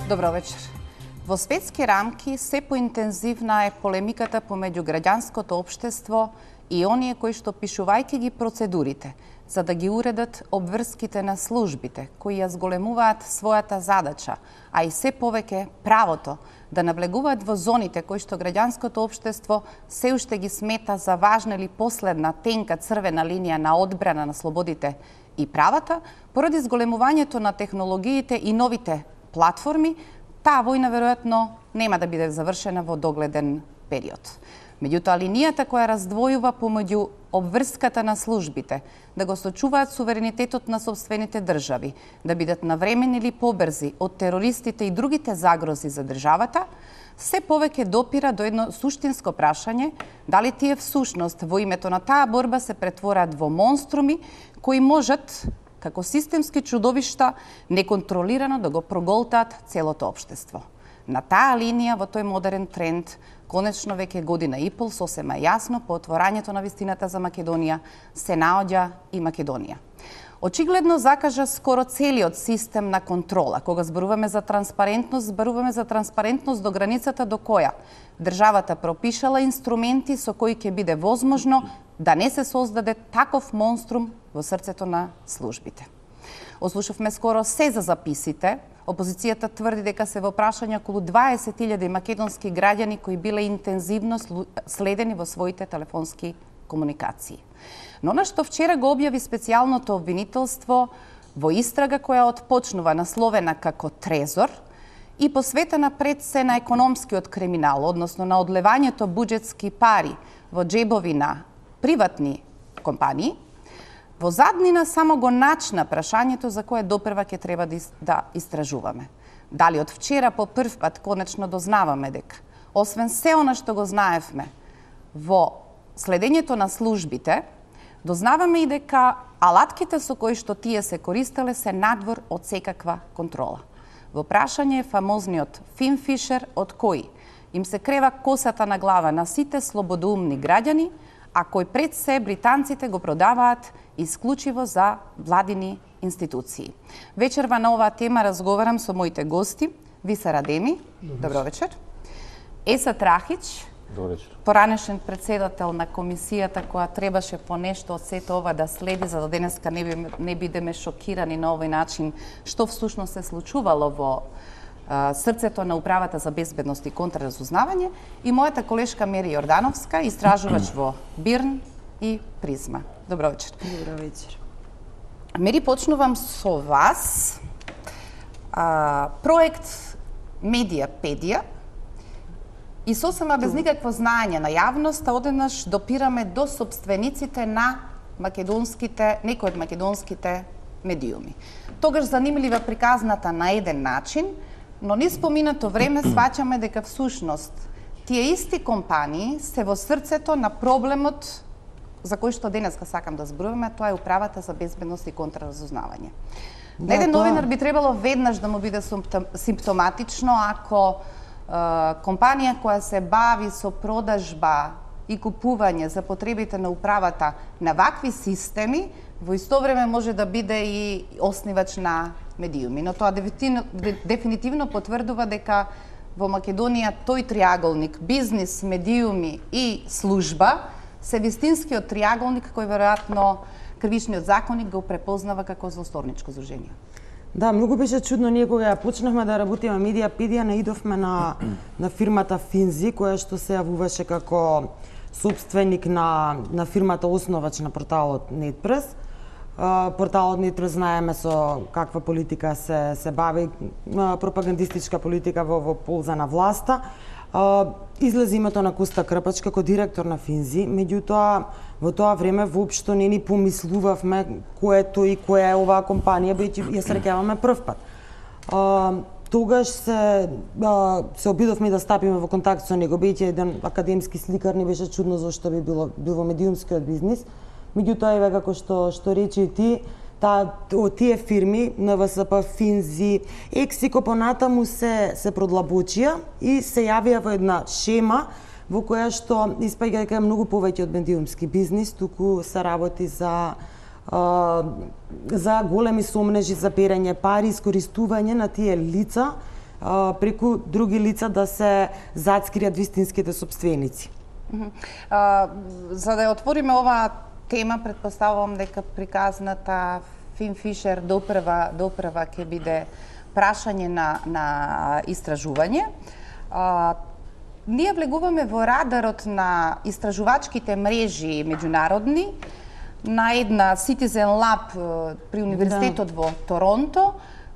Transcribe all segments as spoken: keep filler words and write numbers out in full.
Добро вечер. Во светски рамки се поинтензивна е полемиката помеѓу граѓанското општество и оние кои што пишувајќи ги процедурите за да ги уредат обврските на службите кои ја зголемуваат својата задача, а и се повеќе правото да навлегуваат во зоните кои што граѓанското општество се уште ги смета за важна или последна тенка црвена линија на одбрана на слободите и правата, поради зголемувањето на технологиите и новите платформи, таа војна веројатно нема да биде завршена во догледен период. Меѓутоа, линијата која раздвојува помеѓу обврската на службите да го сочуваат суверенитетот на сопствените држави, да бидат навремени или побрзи од терористите и другите загрози за државата, се повеќе допира до едно суштинско прашање дали тие всушност во името на таа борба се претворат во монструми кои можат како системски чудовишта неконтролирано да го проголтаат целото општество. На таа линија во тој модерен тренд, конечно веќе година и пол сосема јасно по отворањето на вистината за Македонија се наоѓа и Македонија. Очигледно закажа скоро целиот систем на контрола. Кога зборуваме за транспарентност, зборуваме за транспарентност до границата до која државата пропишала инструменти со кои ќе биде возможно да не се создаде таков монструм во срцето на службите. Ослушавме скоро се за записите. Опозицијата тврди дека се во прашање околу дваесет илјади македонски граѓани кои биле интензивно следени во своите телефонски комуникации. Но на што вчера го објави специјалното обвинителство во истрага која отпочнува насловена како Трезор и посветена пред се на економскиот криминал, односно на одлевањето буџетски пари во джебови на приватни компании, во заднина само го начна прашањето за кое допрва ќе треба да истражуваме. Дали од вчера по прв пат конечно дознаваме дека, освен се она што го знаевме во следењето на службите, дознаваме и дека алатките со кои што тие се користеле се надвор од секаква контрола. Во прашање е фамозниот Финфишер од кој им се крева косата на глава на сите слободоумни граѓани, а кој пред се британците го продаваат исклучиво за владини институции. Вечерва на оваа тема разговарам со моите гости, Виса Радеми, добро вечер. Еса Трахич, добро вечер. Поранешен председател на комисијата која требаше по нешто од сето ова да следи, за да денеска не, би, не бидеме шокирани на овој начин што всушност се случувало во а, срцето на Управата за безбедност и контраразузнавање, и мојата колешка Мери Јордановска, истражувач во БИРН и Призма. Добро вечер. Добро вечер. Мери, почнувам со вас. А, проект Медиапедија и сосема без никакво знаење на јавноста одеднаш допираме до сопствениците на македонските, некои од македонските медиуми. Тогаш занимлива приказната на еден начин, но низ поминато време сваќаме дека всушност тие исти компании се во срцето на проблемот за кој што денеска сакам да зборуваме, тоа е Управата за безбедност и контраразузнавање. Да, еден тоа... новинар би требало веднаш да му биде симптоматично ако е, компанија која се бави со продажба и купување за потребите на управата на вакви системи, во исто време може да биде и основач на медиуми. Но тоа дефинитивно, дефинитивно потврдува дека во Македонија тој триаголник бизнис, медиуми и служба се вистинскиот триаголник кој веројатно кривичниот законник го препознава како злосторничко здружение. Да, многу беше чудно. Ние кога ја почнавме да работиме Медиапедија, наидовме на на фирмата Финзи, која што се јавуваше како сопственик на на фирмата основач на порталот Нетпрес. Порталот Нетпрес знаеме со каква политика се се бави, пропагандистичка политика во во полза на власта. Излезе името на Коста Крпач како директор на Финзи, меѓутоа во тоа време воопшто не ни помислувавме кој е тој и која е оваа компанија, бидејќи ја среќаваме прв пат. А, тогаш се а, се обидовме да стапиме во контакт со него, бидејќи еден академски сликар, не беше чудно зашто би било бил во медиумскиот бизнис. Меѓутоа еве како што што рече ти, таа тие фирми Н В С П, Финзи, Ексико понатаму се се продлабочија и се јавија во една шема во која што испаѓа дека е многу повеќе од медиумски бизнис, туку се работи за а, за големи сомнежи за перење пари, искористување на тие лица преку други лица да се зацкријат вистинските сопственици. А, за да ја отвориме оваа тема, предпоставувам дека приказната Фин Фишер допрва допрва ќе биде прашање на на истражување. А, ние влегуваме во радарот на истражувачките мрежи меѓународни на една Citizen Lab при Универзитетот да. во Торонто,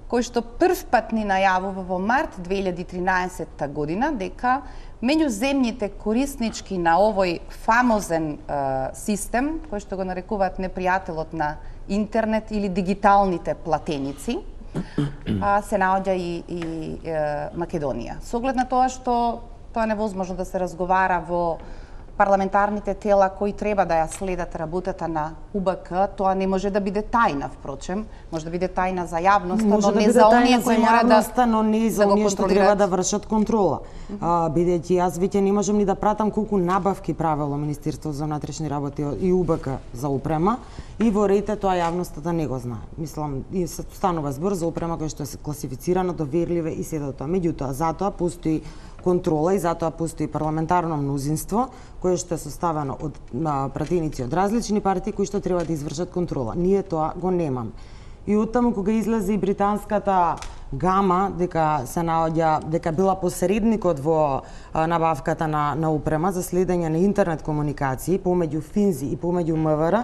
кој што прв пат ни најавува во март две илјади и тринаесетта година дека меѓуземните кориснички на овој фамозен е, систем, кој што го нарекуваат непријателот на интернет или дигиталните платеници, а, се наоѓа и, и е, Македонија. Со оглед на тоа што тоа е невозможно да се разговара во парламентарните тела кои треба да ја следат работата на У Б К, тоа не може да биде тајна, впрочем, може да биде тајна за јавноста, но да не за оние кои мора да но не за да оние што треба да вршат контрола. Mm -hmm. а, бидејќи јас веќе не можам ни да пратам колку набавки правело Министерството за внатрешни работи и У Б К за опрема, и во рете тоа јавноста да не го знае. Мислам, и се станува збор за опрема која што е класифицирана, доверливе и се до тоа. Меѓутоа, затоа постои контрола и затоа постои парламентарно мнозинство кое што е составено од пратеници од различни партии кои што треба да извршат контрола. Ние тоа го немаме. И оттаму кога излезе и британската Гама дека се наоѓа дека била посредникот во а, набавката на на опрема за следење на интернет комуникации помеѓу Финзи и помеѓу М В Р,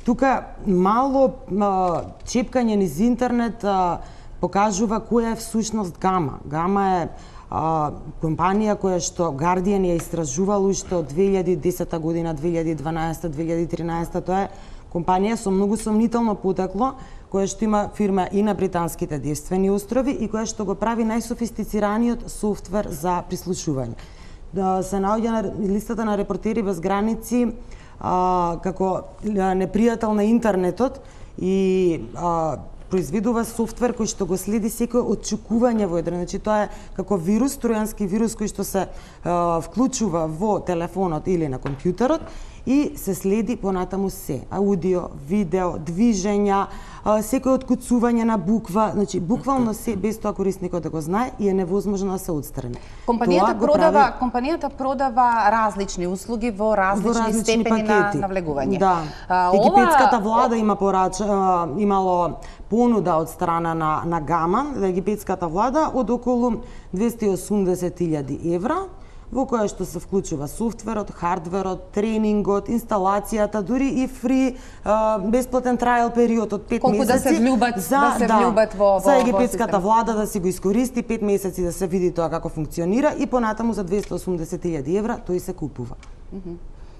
тука мало а, чепкање низ интернет а, покажува која е всушност Гама. Гама е а, компанија која што Guardian ја истражувал уште од две илјади и десета година, две илјади и дванаесета, две илјади и тринаесета, тоа е компанија со многу сомнително потекло, која што има фирма и на британските Девствени острови и која што го прави најсофистицираниот софтвер за прислушување. Да се наоѓа на листата на Репортери без граници а, како непријател на интернетот и а, произведува софтвер кој што го следи секој отчукување во еден. Значи тоа е како вирус, тројански вирус кој што се а, вклучува во телефонот или на компјутерот и се следи понатаму се. Аудио, видео, движења, а, секој откуцување на буква, значи буквално се без тоа корисникот да го знае и е невозможно да се отстрани. Компанијата продава, прави... компанијата продава различни услуги во различни, во различни степени пакети на навлегување. Да. А, Египетската ова... влада има порач... имало понуда од страна на на Гама, египетската влада, од околу двесте и осумдесет илјади евра, во која што се вклучува софтверот, хардверот, тренингот, инсталацијата, дури и фри а, бесплатен трајал период од пет Колку месеци. да се влюбат, за, да се да, влюбат во, во за египетската во влада да си го искористи пет месеци да се види тоа како функционира и понатаму за двесте и осумдесет илјади евра тој се купува. Mm -hmm.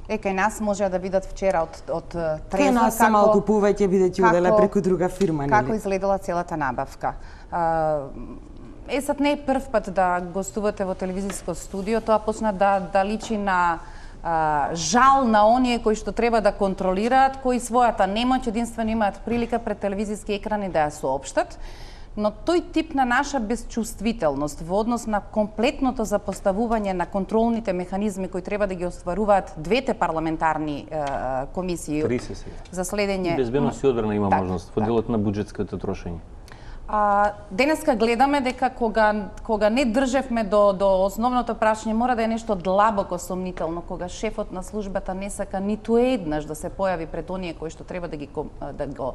Е, кај нас можеа да видат вчера од од Трезор кај нас се малку повеќе бидејќи оделе преку друга фирма, нели? Како изгледала целата набавка? А, Е, сад не е прв пат да гостувате во телевизиско студио, тоа почна да, да личи на а, жал на оние кои што треба да контролираат, кои својата немоќ единствено имаат прилика пред телевизиски екрани да ја соопштат, но тој тип на наша безчувствителност во однос на комплетното запоставување на контролните механизми кои треба да ги остваруваат двете парламентарни е, комисии за следење... Безбедност и одбрана има так, можност во делот на буџетското трошење. А, денеска гледаме дека кога кога не држевме до до основното прашање, мора да е нешто длабоко сомнително, кога шефот на службата не сака ниту еднаш да се појави пред оние кои што треба да ги да го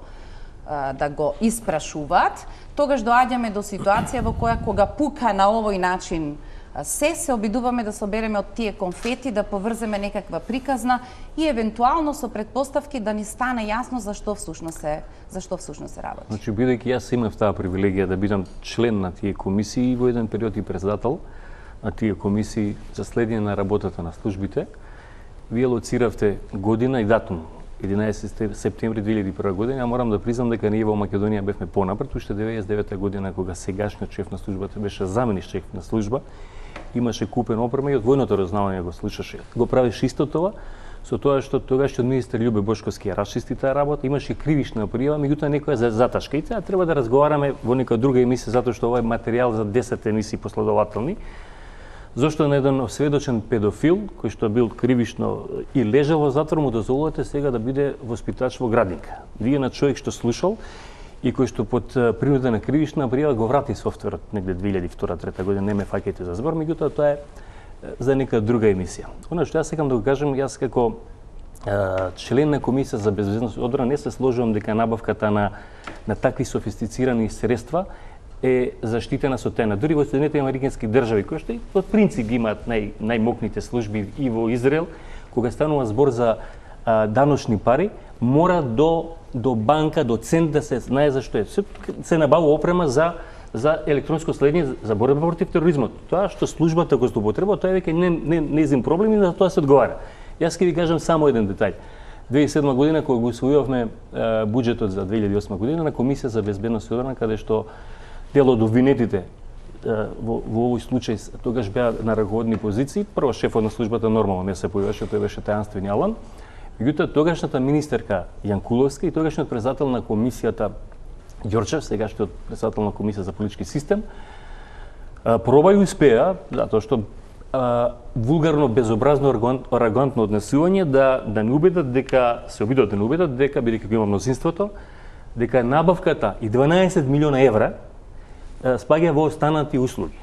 да го испрашуваат, тогаш доаѓаме до ситуација во која кога пука на овој начин се се обидуваме да собереме од тие конфети, да поврземе некаква приказна и евентуално со предпоставки да ни стане јасно зашто всушност се зашто всушност се работи. Значи бидејќи јас имав таа привилегија да бидам член на тие комисии во еден период и председател на тие комисии за следење на работата на службите, вие лоциравте година и датум единаесети септември две илјади и прва година, а морам да признам дека ние во Македонија бевме понапред, уште деветдесет и девета година кога сегашниот шеф на службата беше замениш шеф на служба, имаше купен опрема и од војното разузнавање го слушаше. Го правеше исто тоа, со тоа што тогашниот министер Љубе Бошковски ја расчисти таа работа, имаше кривична пријава, меѓутоа некоја за заташка. И сега треба да разговараме во нека друга емисија, затоа што ова е материјал за десет емисии последователни. Зошто на еден осведочен педофил, кој што бил кривично и лежал во затвор, му дозволувате сега да биде воспитач во градинка. Вие на човек што слушал и кој што под принуда на кривична прија го врати софтверот негде две илјади и втора трета година, не ме фаќајте за збор, меѓутоа тоа е за нека друга емисија. Она што јас сакам да го кажам, јас како член на Комисија за безбедност и одбрана не се сложувам дека набавката на на такви софистицирани средства е заштитена со тајна. Дури во Соединетите американски држави, кои што по принцип имаат нај најмокните служби и во Израел, кога станува збор за а, даночни пари, мора до до банка, до цент да се знае зашто е. Се, се набавува опрема за за електронско следење за борба против тероризмот. Тоа што службата го злоупотреба, тоа е веќе не не нејзин проблем и за тоа се одговара. Јас ќе ви кажам само еден детаљ. две илјади и седма година кога го усвојувавме буџетот за две илјади и осма година на Комисија за безбедност и одбрана, каде што дел од обвинетите во, во овој случај тогаш беа на раководни позиции, прво шефот на службата нормално не се појавеше, тој беше тајанствен Алан. Меѓутоа тогашната министерка Јанкуловска и тогашниот председател на комисијата Ѓорчев, сегашниот председател на Комисија за политички систем, проба и успеа, затоа што а, вулгарно, безобразно, арогантно однесување да да не убедат дека се обидат да не убедат дека бидејќи го има мнозинството, дека набавката и дванаесет милиона евра спаѓа во останати услуги.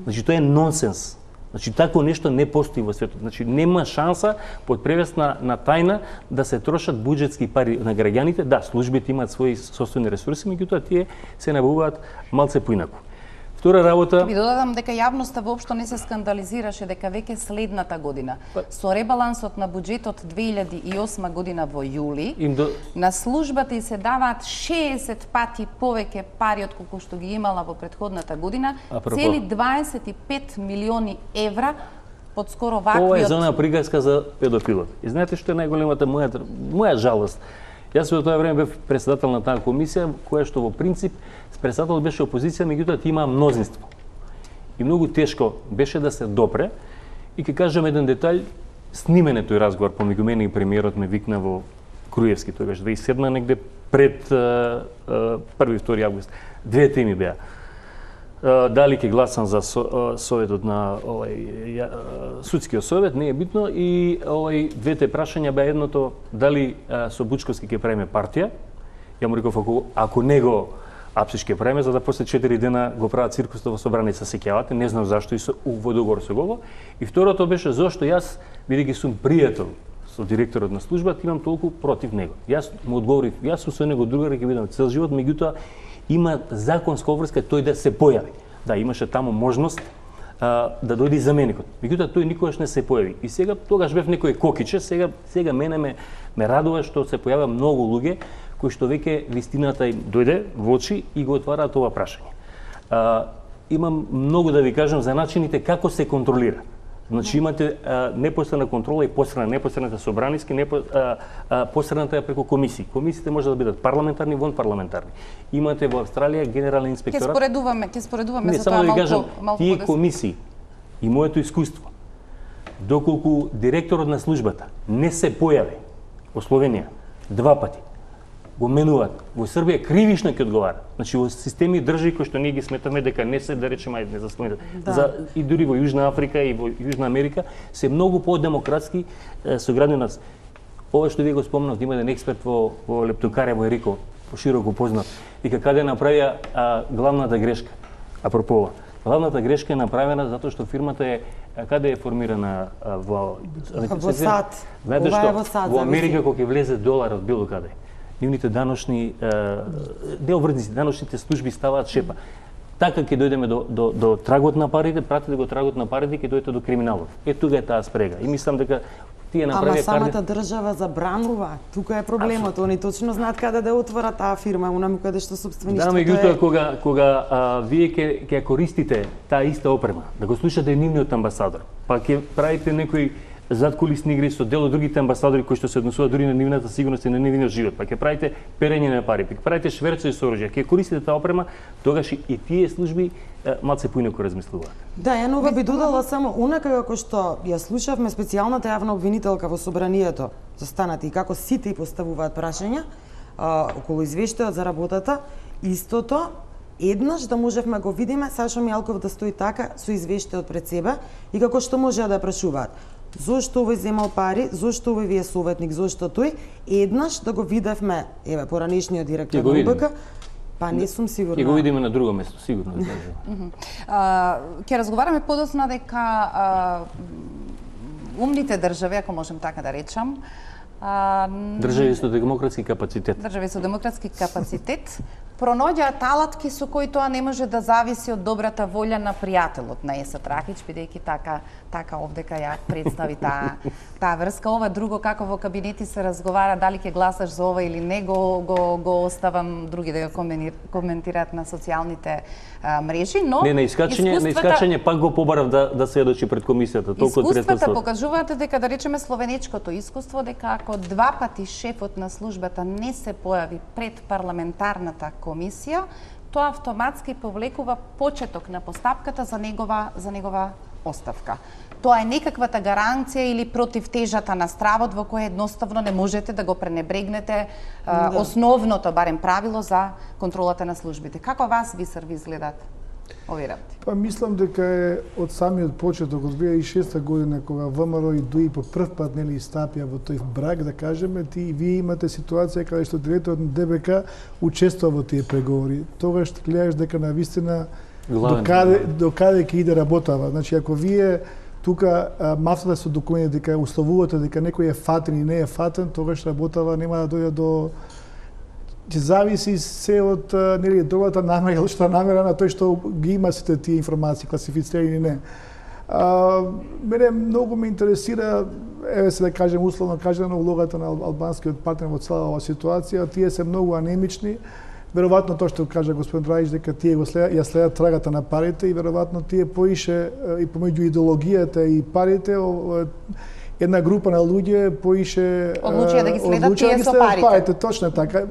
Значи тоа е нонсенс. Значи тако нешто не постои во светот. Значи нема шанса под превес на, на тајна да се трошат буџетски пари на граѓаните. Да, службите имаат своји собствени ресурси, меѓутоа тие се набавуваат малце поинаку. Втора работа... Ви додадам дека јавноста воопшто не се скандализираше дека веќе следната година со ребалансот на буџетот две илјади и осма година во јули до... на службата и се даваат шеесет пати повеќе пари од колку што ги имала во претходната година, Апропо. цели дваесет и пет милиони евра под скоро ваквиот... Ова е зона приказка за педофилот. И знаете што е најголемата моја моја жалост? Јас во тоа време бев председател на таа комисија, која што во принцип председател беше опозиција, меѓутоа ти има мнозинство. И многу тешко беше да се допре. И ќе кажам еден детаљ, снимен е тој разговор помеѓу мене и премиерот ме викна во Круевски, тој беше две илјади и седма негде пред први и втори август. Две теми беа. Дали ќе гласам за советот на овај судскиот совет, не е битно, и овај двете прашања беа едното дали со Бучковски ќе правиме партија. Ја му реков ако ако него апсиш ќе правиме, за да после четири дена го прават циркусот во Собраница, се сеќавате, не знам зашто и со во договор со го. И второто беше зошто јас, бидејќи сум пријател со директорот на службата, имам толку против него. Јас му одговорив, јас сум со него другар ќе бидам цел живот, меѓутоа има законска обврска тој да се појави. Да, имаше таму можност а, да дојде заменикот. Меѓутоа тој никогаш не се појави. И сега тогаш бев некој кокиче, сега сега мене ме ме радува што се појаваа многу луѓе кои што веќе вистината им дојде во очи и го отвараат ова прашање. А, имам многу да ви кажам за начините како се контролира. Значи имате а, непосредна контрола и посредна, непосредната собраниски, непо, а, а, посредната е преку комисии. Комисиите може да бидат парламентарни, вон парламентарни. Имате во Австралија генерален инспекторат. Ќе споредуваме, ќе споредуваме не, за тоа да малку, кажам, малку тие подес... комисии и моето искуство, доколку директорот на службата не се појави во Словенија два пати, го менуваат. Во Србија кривишно ќе одговара. Значи во системи држави кои што ние ги сметаме дека не се, да речеме, ајде не заслоните. Да. За и дури во Јужна Африка и во Јужна Америка се многу подемократски со граѓани нас. Ова што вие го спомнавте, има еден експерт во во Лептокарија во Ерико, пошироко познат, вика каде направија а, главната грешка. Апропо ова. Главната грешка е направена затоа што фирмата е каде е формирана а, во во САД. Знаете што? Во Америка кога ќе влезе доларот било каде, нивните даночни необврзници, даночните служби ставаат шепа. Така ќе дојдеме до, до, до трагот на парите, пратите го трагот на парите, ќе дојдете до криминалот. Е, тука е таа спрега. И мислам дека тие направија... Ама самата држава забранува. Тука е проблемот. Они точно знаат каде да отворат таа фирма, онаму каде што собствеништвото да, меѓутоа, е... кога, кога а, вие ќе ќе користите таа иста опрема, да го слушате нивниот амбасадор, па ќе правите некои задкулисни игри со дел од другите амбасадори кои што се однесуваат дури на нивната сигурност и на нивниот живот, па ќе правите перење на пари, па ќе правите шверцови со оружје, ќе користите таа опрема, тогаш и тие служби малце поинаку размислуваат. Да, ја нова би додала само онака како што ја слушавме специјалната јавна обвинителка во собранието за станати и како сите и поставуваат прашања а, околу извештајот за работата, истото еднаш да можевме го видиме Сашо Мјалков да стои така со извештајот пред себе и како што можеа да прашуваат. Зошто овој земал пари, зошто овој ви е советник, зошто тој, еднаш да го видевме, еве, поранешниот директор на УБК, Па не сум сигурна. Ќе го видиме на друго место, сигурно. Ќе разговараме подоцна дека умните држави, ако можем така да речам, држави со демократски капацитет. Држави со демократски капацитет пронаоѓаат алатки со кои тоа не може да зависи од добрата волја на пријателот на Еса Трахич, бидејќи така така овдека ја представи таа таа врска. Ова друго како во кабинети се разговара дали ќе гласаш за ова или не, го го, го оставам други да го коментираат на социјалните а, мрежи, но не, на искачање, на искачање пак го побарав да да се едочи пред комисијата, толку искуствата покажуваат дека да речеме словенечкото искуство дека ако два пати шефот на службата не се појави пред парламентарната комисија, тоа автоматски повлекува почеток на постапката за негова за негова оставка. Тоа е некаквата гаранција или противтежата на стравот во кој едноставно не можете да го пренебрегнете а, да. Основното барем правило за контролата на службите. Како вас ви серви изгледаат овие работи? Па мислам дека е од самиот почеток од две илјади и шеста година кога ВМРО и ДУИ по прв пат нели стапија во тој брак, да кажеме, ти вие имате ситуација каде што директорот на ДБК учествува во тие преговори. Тогаш гледаш дека навистина до каде до каде ќе иде работава. Значи ако вие тука мафтата со документи дека условувате дека некој е фатен и не е фатен, тогаш работава нема да дојде до ќе зависи се од нели добрата намера или лошата намера на тој што ги има сите тие информации класифицирани или не. А, мене многу ме интересира, еве се да кажем условно кажано, улогата на албанскиот партнер во цела оваа ситуација. Тие се многу анемични. Веројатно тоа што кажа господин Драјич дека тие го следат, ја следат трагата на парите и веројатно тие поише и помеѓу идеологијата и парите една група на луѓе поише одлучија да ги следат тие со парите. парите. Точно така.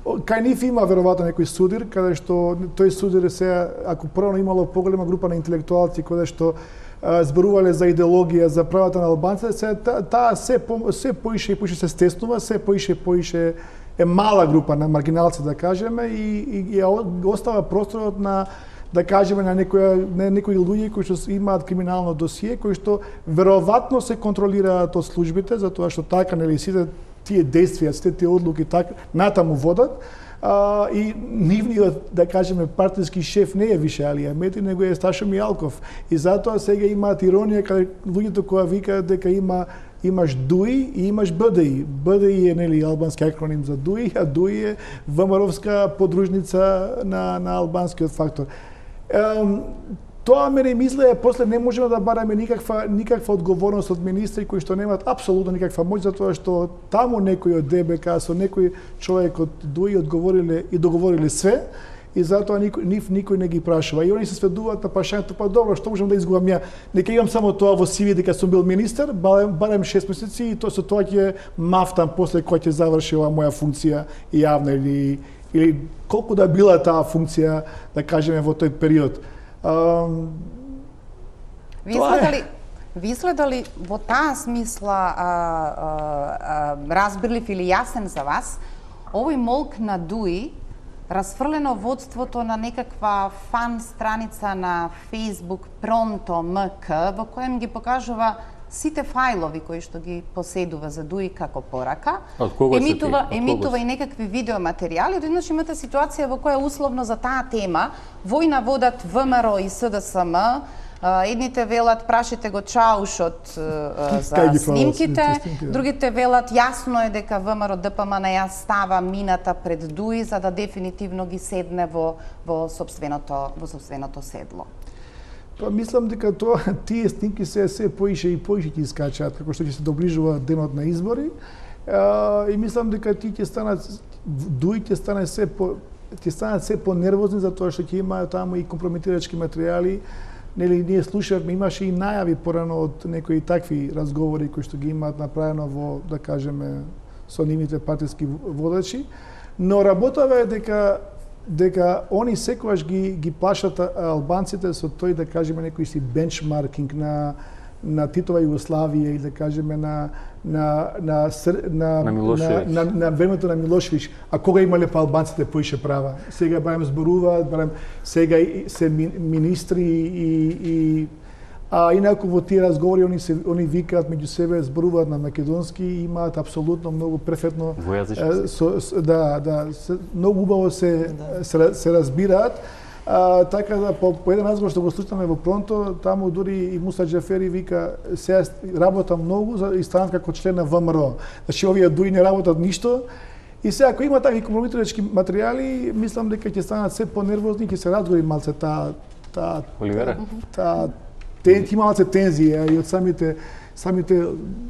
Кај нив има веројатно некој судир, каде што тој судир се, ако прво имало поголема група на интелектуалци каде што зборувале за идеологија, за правата на албанците, се таа се се поише и поише се стеснува, се поише и поише е мала група на маргиналци, да кажеме, и, и, и остава просторот на, да кажеме, на некои, на некои луѓе кои што имаат криминално досие, кои што веројатно се контролираат од службите, затоа што така, нели, сите тие действија, сите тие одлуки така натаму водат, а, и нивниот, да кажеме, партиски шеф не е више Али Ахмети, него е Сташо Мијалков. И затоа сега имаат иронија каде луѓето кои викаат дека има имаш ДУИ и имаш БДИ. БДИ е нели албански акроним за ДУИ, а ДУИ е ВМРО-вска подружница на на албанскиот фактор. Ем, тоа мене мисле, после не можеме да бараме никаква никаква одговорност од министри кои што немаат апсолутно никаква моќ, затоа што таму некој од ДБК со некој човек од ДУИ одговориле и договориле све, и затоа никој, нив никој не ги прашува. И они се сведуваат на прашањето, па добро, што можам да изгубам ја? Нека имам само тоа во си ви дека сум бил министер, барем, барем шест месеци и тоа со тоа ќе мафтам после кој ќе заврши оваа моја функција јавна или или колку да била таа функција, да кажеме, во тој период. Um, ви следали, ви следали во таа смисла а, а, а, разбирлив или јасен за вас овој молк на ДУИ, расфрлено водството на некаква фан страница на Facebook Pronto МК, во коем ги покажува сите фајлови кои што ги поседува за ДУИ како порака, емитува, емитува и некакви видеоматеријали. Одеднаш имате ситуација во која условно за таа тема војна водат ВМРО и СДСМ, едните велат прашите го Чаушот за снимките, другите велат јасно е дека ВМРО ДПМН ја става мината пред ДУИ за да дефинитивно ги седне во во сопственото во сопственото седло. Па мислам дека тоа тие снимки се се поише и поише ќе искачаат како што ќе се доближува денот на избори. А, и мислам дека тие ќе станат ДУИ ќе стане се по ќе станат се понервозни затоа што ќе има таму и компрометирачки материјали. Нели ние слушавме, имаше и најави порано од некои такви разговори кои што ги имаат направено во, да кажеме, со нивните партиски водачи, но работава е дека дека они секогаш ги ги плашат албанците со тој, да кажеме, некој си бенчмаркинг на на Титова Југославија или да кажеме на на на на на, на, на, на времето на Милошевиќ, а кога имале па албанците поише права. Сега барем зборуваат, барем сега се министри и и А инаку во тие разговори они се они викаат меѓу себе, зборуваат на македонски и имаат апсолутно многу перфектно Двојазичност. со, со, да, да, се, многу убаво се, да. се се разбираат. А, така да по, по еден разговор што го слушнаме во Пронто, таму дури и Муса Џафери вика сега работам многу за и станам како член на ВМРО. Значи овие дури не работат ништо. И сега ако има такви компрометирачки материјали, мислам дека ќе станат се понервозни, ќе се разгори малце таа таа Оливера. Таа тен има малце тензија и од самите самите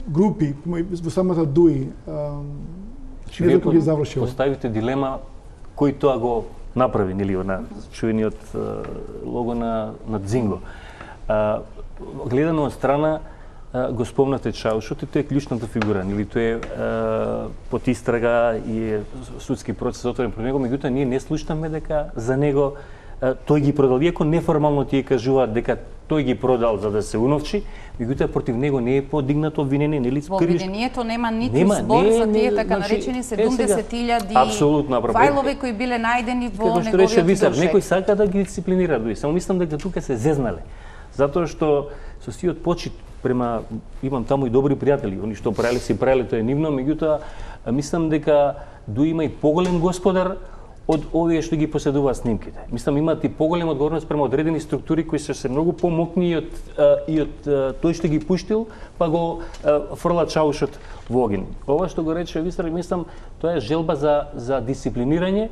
групи во самата ДУИ. Не знам кој ги завршил. Поставите дилема кој тоа го направи, нели, на чуениот лого на на Дзинго. А, гледано од страна го спомнате Чаушот и тој е клучната фигура, нели, тој е под истрага и е судски процес отворен про него, меѓутоа ние не слушнаме дека за него тој ги продал, иако неформално тие кажуваат дека тој ги продал за да се уновчи, меѓутоа против него не е подигнато обвинение, нели? Во обвинението нема ниту нема, збор не, за тие така значи, наречени седумдесет илјади фајлови кои биле најдени во неговиот рече Висар, душек. некој сака да ги дисциплинира дуи. Само мислам дека тука се зезнале. Затоа што со сиот почит према имам таму и добри пријатели, они што правеле си правеле тоа е нивно, меѓутоа мислам дека дуи има и поголем господар од овие што ги поседуваат снимките. Мислам имаат и поголема одговорност према одредени структури кои се се многу помокни и од и од тој што ги пуштил, па го фрла Чаушот во огин. Ова што го рече Висар, мислам тоа е желба за за дисциплинирање,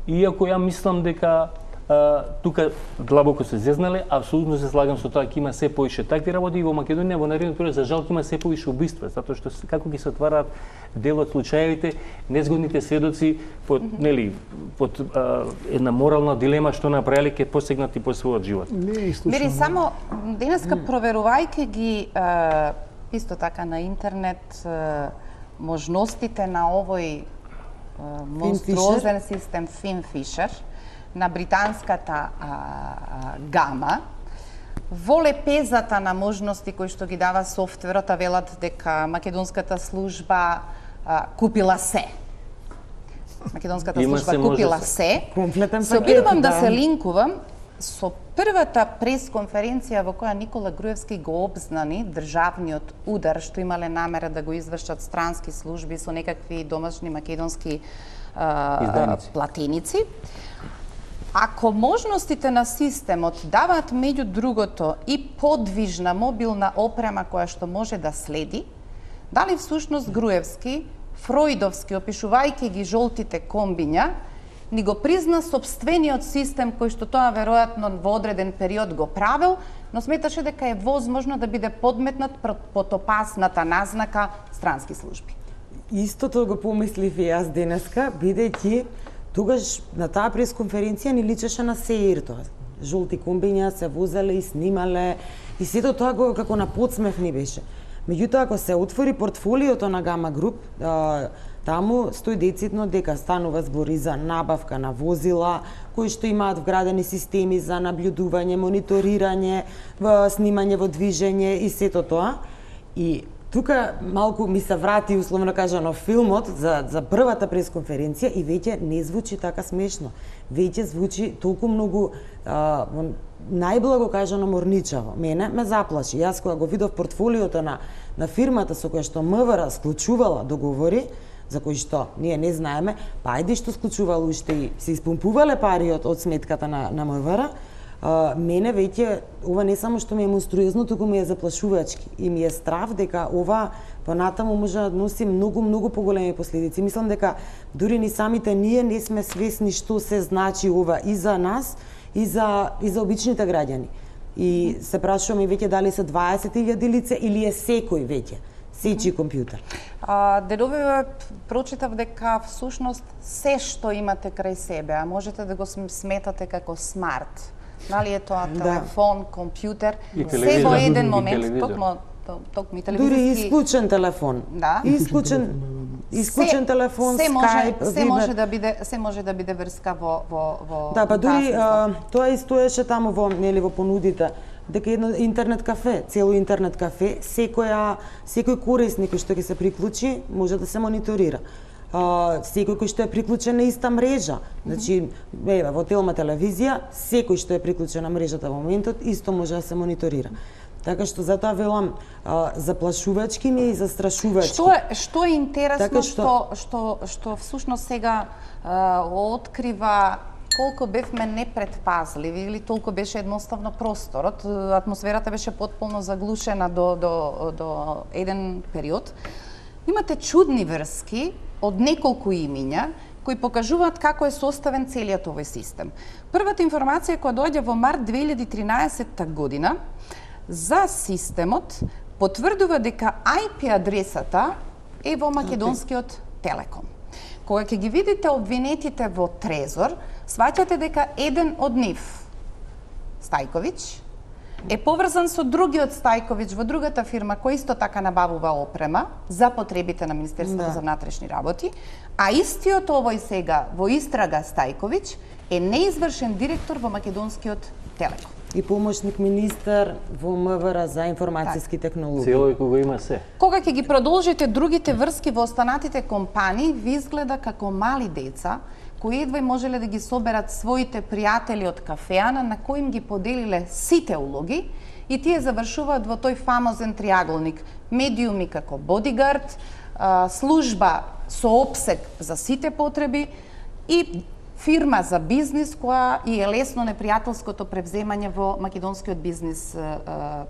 иако ја мислам дека Uh, тука длабоко се зезнале, апсолутно се слагам со тоа ќе има се поише такви работи и во Македонија во наредниот период за жал ќе има се поише убиства, затоа што како ги се отвараат дел од случаевите, незгодните сведоци под mm -hmm. нели под uh, една морална дилема што направиле ќе посегнат и по својот живот. Не, Мери само денеска проверувајќи ги uh, исто така на интернет uh, можностите на овој uh, монструозен систем Финфишер на британската а, а, гама, во лепезата на можности кои што ги дава софтверот, велат дека македонската служба а, купила се. Македонската Има служба се, купила се. се. Комплетен се обидувам да. да се линкувам со првата пресконференција во која Никола Груевски го обзнани државниот удар што имале намера да го извршат странски служби со некакви домашни македонски а, платеници. Ако можностите на системот даваат меѓу другото и подвижна мобилна опрема која што може да следи, дали всушност Груевски, фројдовски, опишувајќи ги жолтите комбиња, ни го призна собствениот систем кој што тоа веројатно во одреден период го правил, но сметаше дека е возможно да биде подметнат под опасната назнака странски служби. Истото го помислив и јас денеска, бидејќи тогаш на таа пресконференција ни личеше на СЕИР тоа. Жолти комбиња се возеле и снимале и сето тоа го како на подсмев ни беше. Меѓутоа ако се отвори портфолиото на Гама Груп, а, таму стои децидно дека станува збор и за набавка на возила кои што имаат вградени системи за наблюдување, мониторирање, снимање во движење и сето тоа. И тука малку ми се врати, условно кажано, филмот за, за првата пресконференција и веќе не звучи така смешно. Веќе звучи толку многу, а, најблаго кажано, морничаво. Мене ме заплаши. Јас кога го видов портфолиото на, на фирмата со која што МВР склучувала договори, за кои што ние не знаеме, па ајде што склучувало уште и се испумпувале пари од, од сметката на, на МВР, Uh, мене веќе ова не само што ми е монструозно, туку ми е заплашувачки и ми е страв дека ова понатаму може да носи многу многу поголеми последици. Мислам дека дури ни самите ние не сме свесни што се значи ова и за нас и за и за обичните граѓани. И се прашуваме веќе дали се дваесет илјади лица или е секој веќе сечи компјутер. А, деновиве прочитав дека всушност се што имате крај себе, а можете да го сметате како смарт. Дали е тоа телефон, да. компјутер, се во еден момент, токму токму телевизиски. Дури исклучен телефон. Да. Исклучен исклучен се, телефон, се може, Skype, се Viber. може да биде се може да биде врска во во во Да, па дури а, тоа и стоеше таму во нели во понудите дека едно интернет кафе, цело интернет кафе, секоја секој корисник што ќе се приклучи може да се мониторира. Uh, секој кој што е приклучен на иста мрежа, значи еве во Телма телевизија, секој што е приклучен на мрежата во моментот исто може да се мониторира. Така што затоа велам заплашувачки ми и застрашувачки. Што е што е интересно така што што што всушност сега а, открива колку бевме непредпазливи или толку беше едноставно просторот, атмосферата беше потполно заглушена до до до еден период. Имате чудни врски од неколку имиња кои покажуваат како е составен целиот овој систем. Првата информација која доаѓа во март две илјади и тринаесетта година за системот потврдува дека ај пи адресата е во македонскиот Телеком. Кога ќе ги видите обвинетите во Трезор, сваќате дека еден од нив, Стајковиќ, е поврзан со другиот Стајковиќ во другата фирма која исто така набавува опрема за потребите на Министерството да. за внатрешни работи, а истиот овој сега во истрага Стајковиќ е неизвршен директор во македонскиот Телеком. И помошник министар во М В Р за информацијски технологии. Цело кога има се. Кога ќе ги продолжите другите врски во останатите компании, ви изгледа како мали деца кои едва можеле да ги соберат своите пријатели од кафеана на кои им ги поделиле сите улоги и тие завршуваат во тој фамозен триаголник. Медиуми како бодигард, служба со опсег за сите потреби и фирма за бизнис која и е лесно непријателското превземање во македонскиот бизнис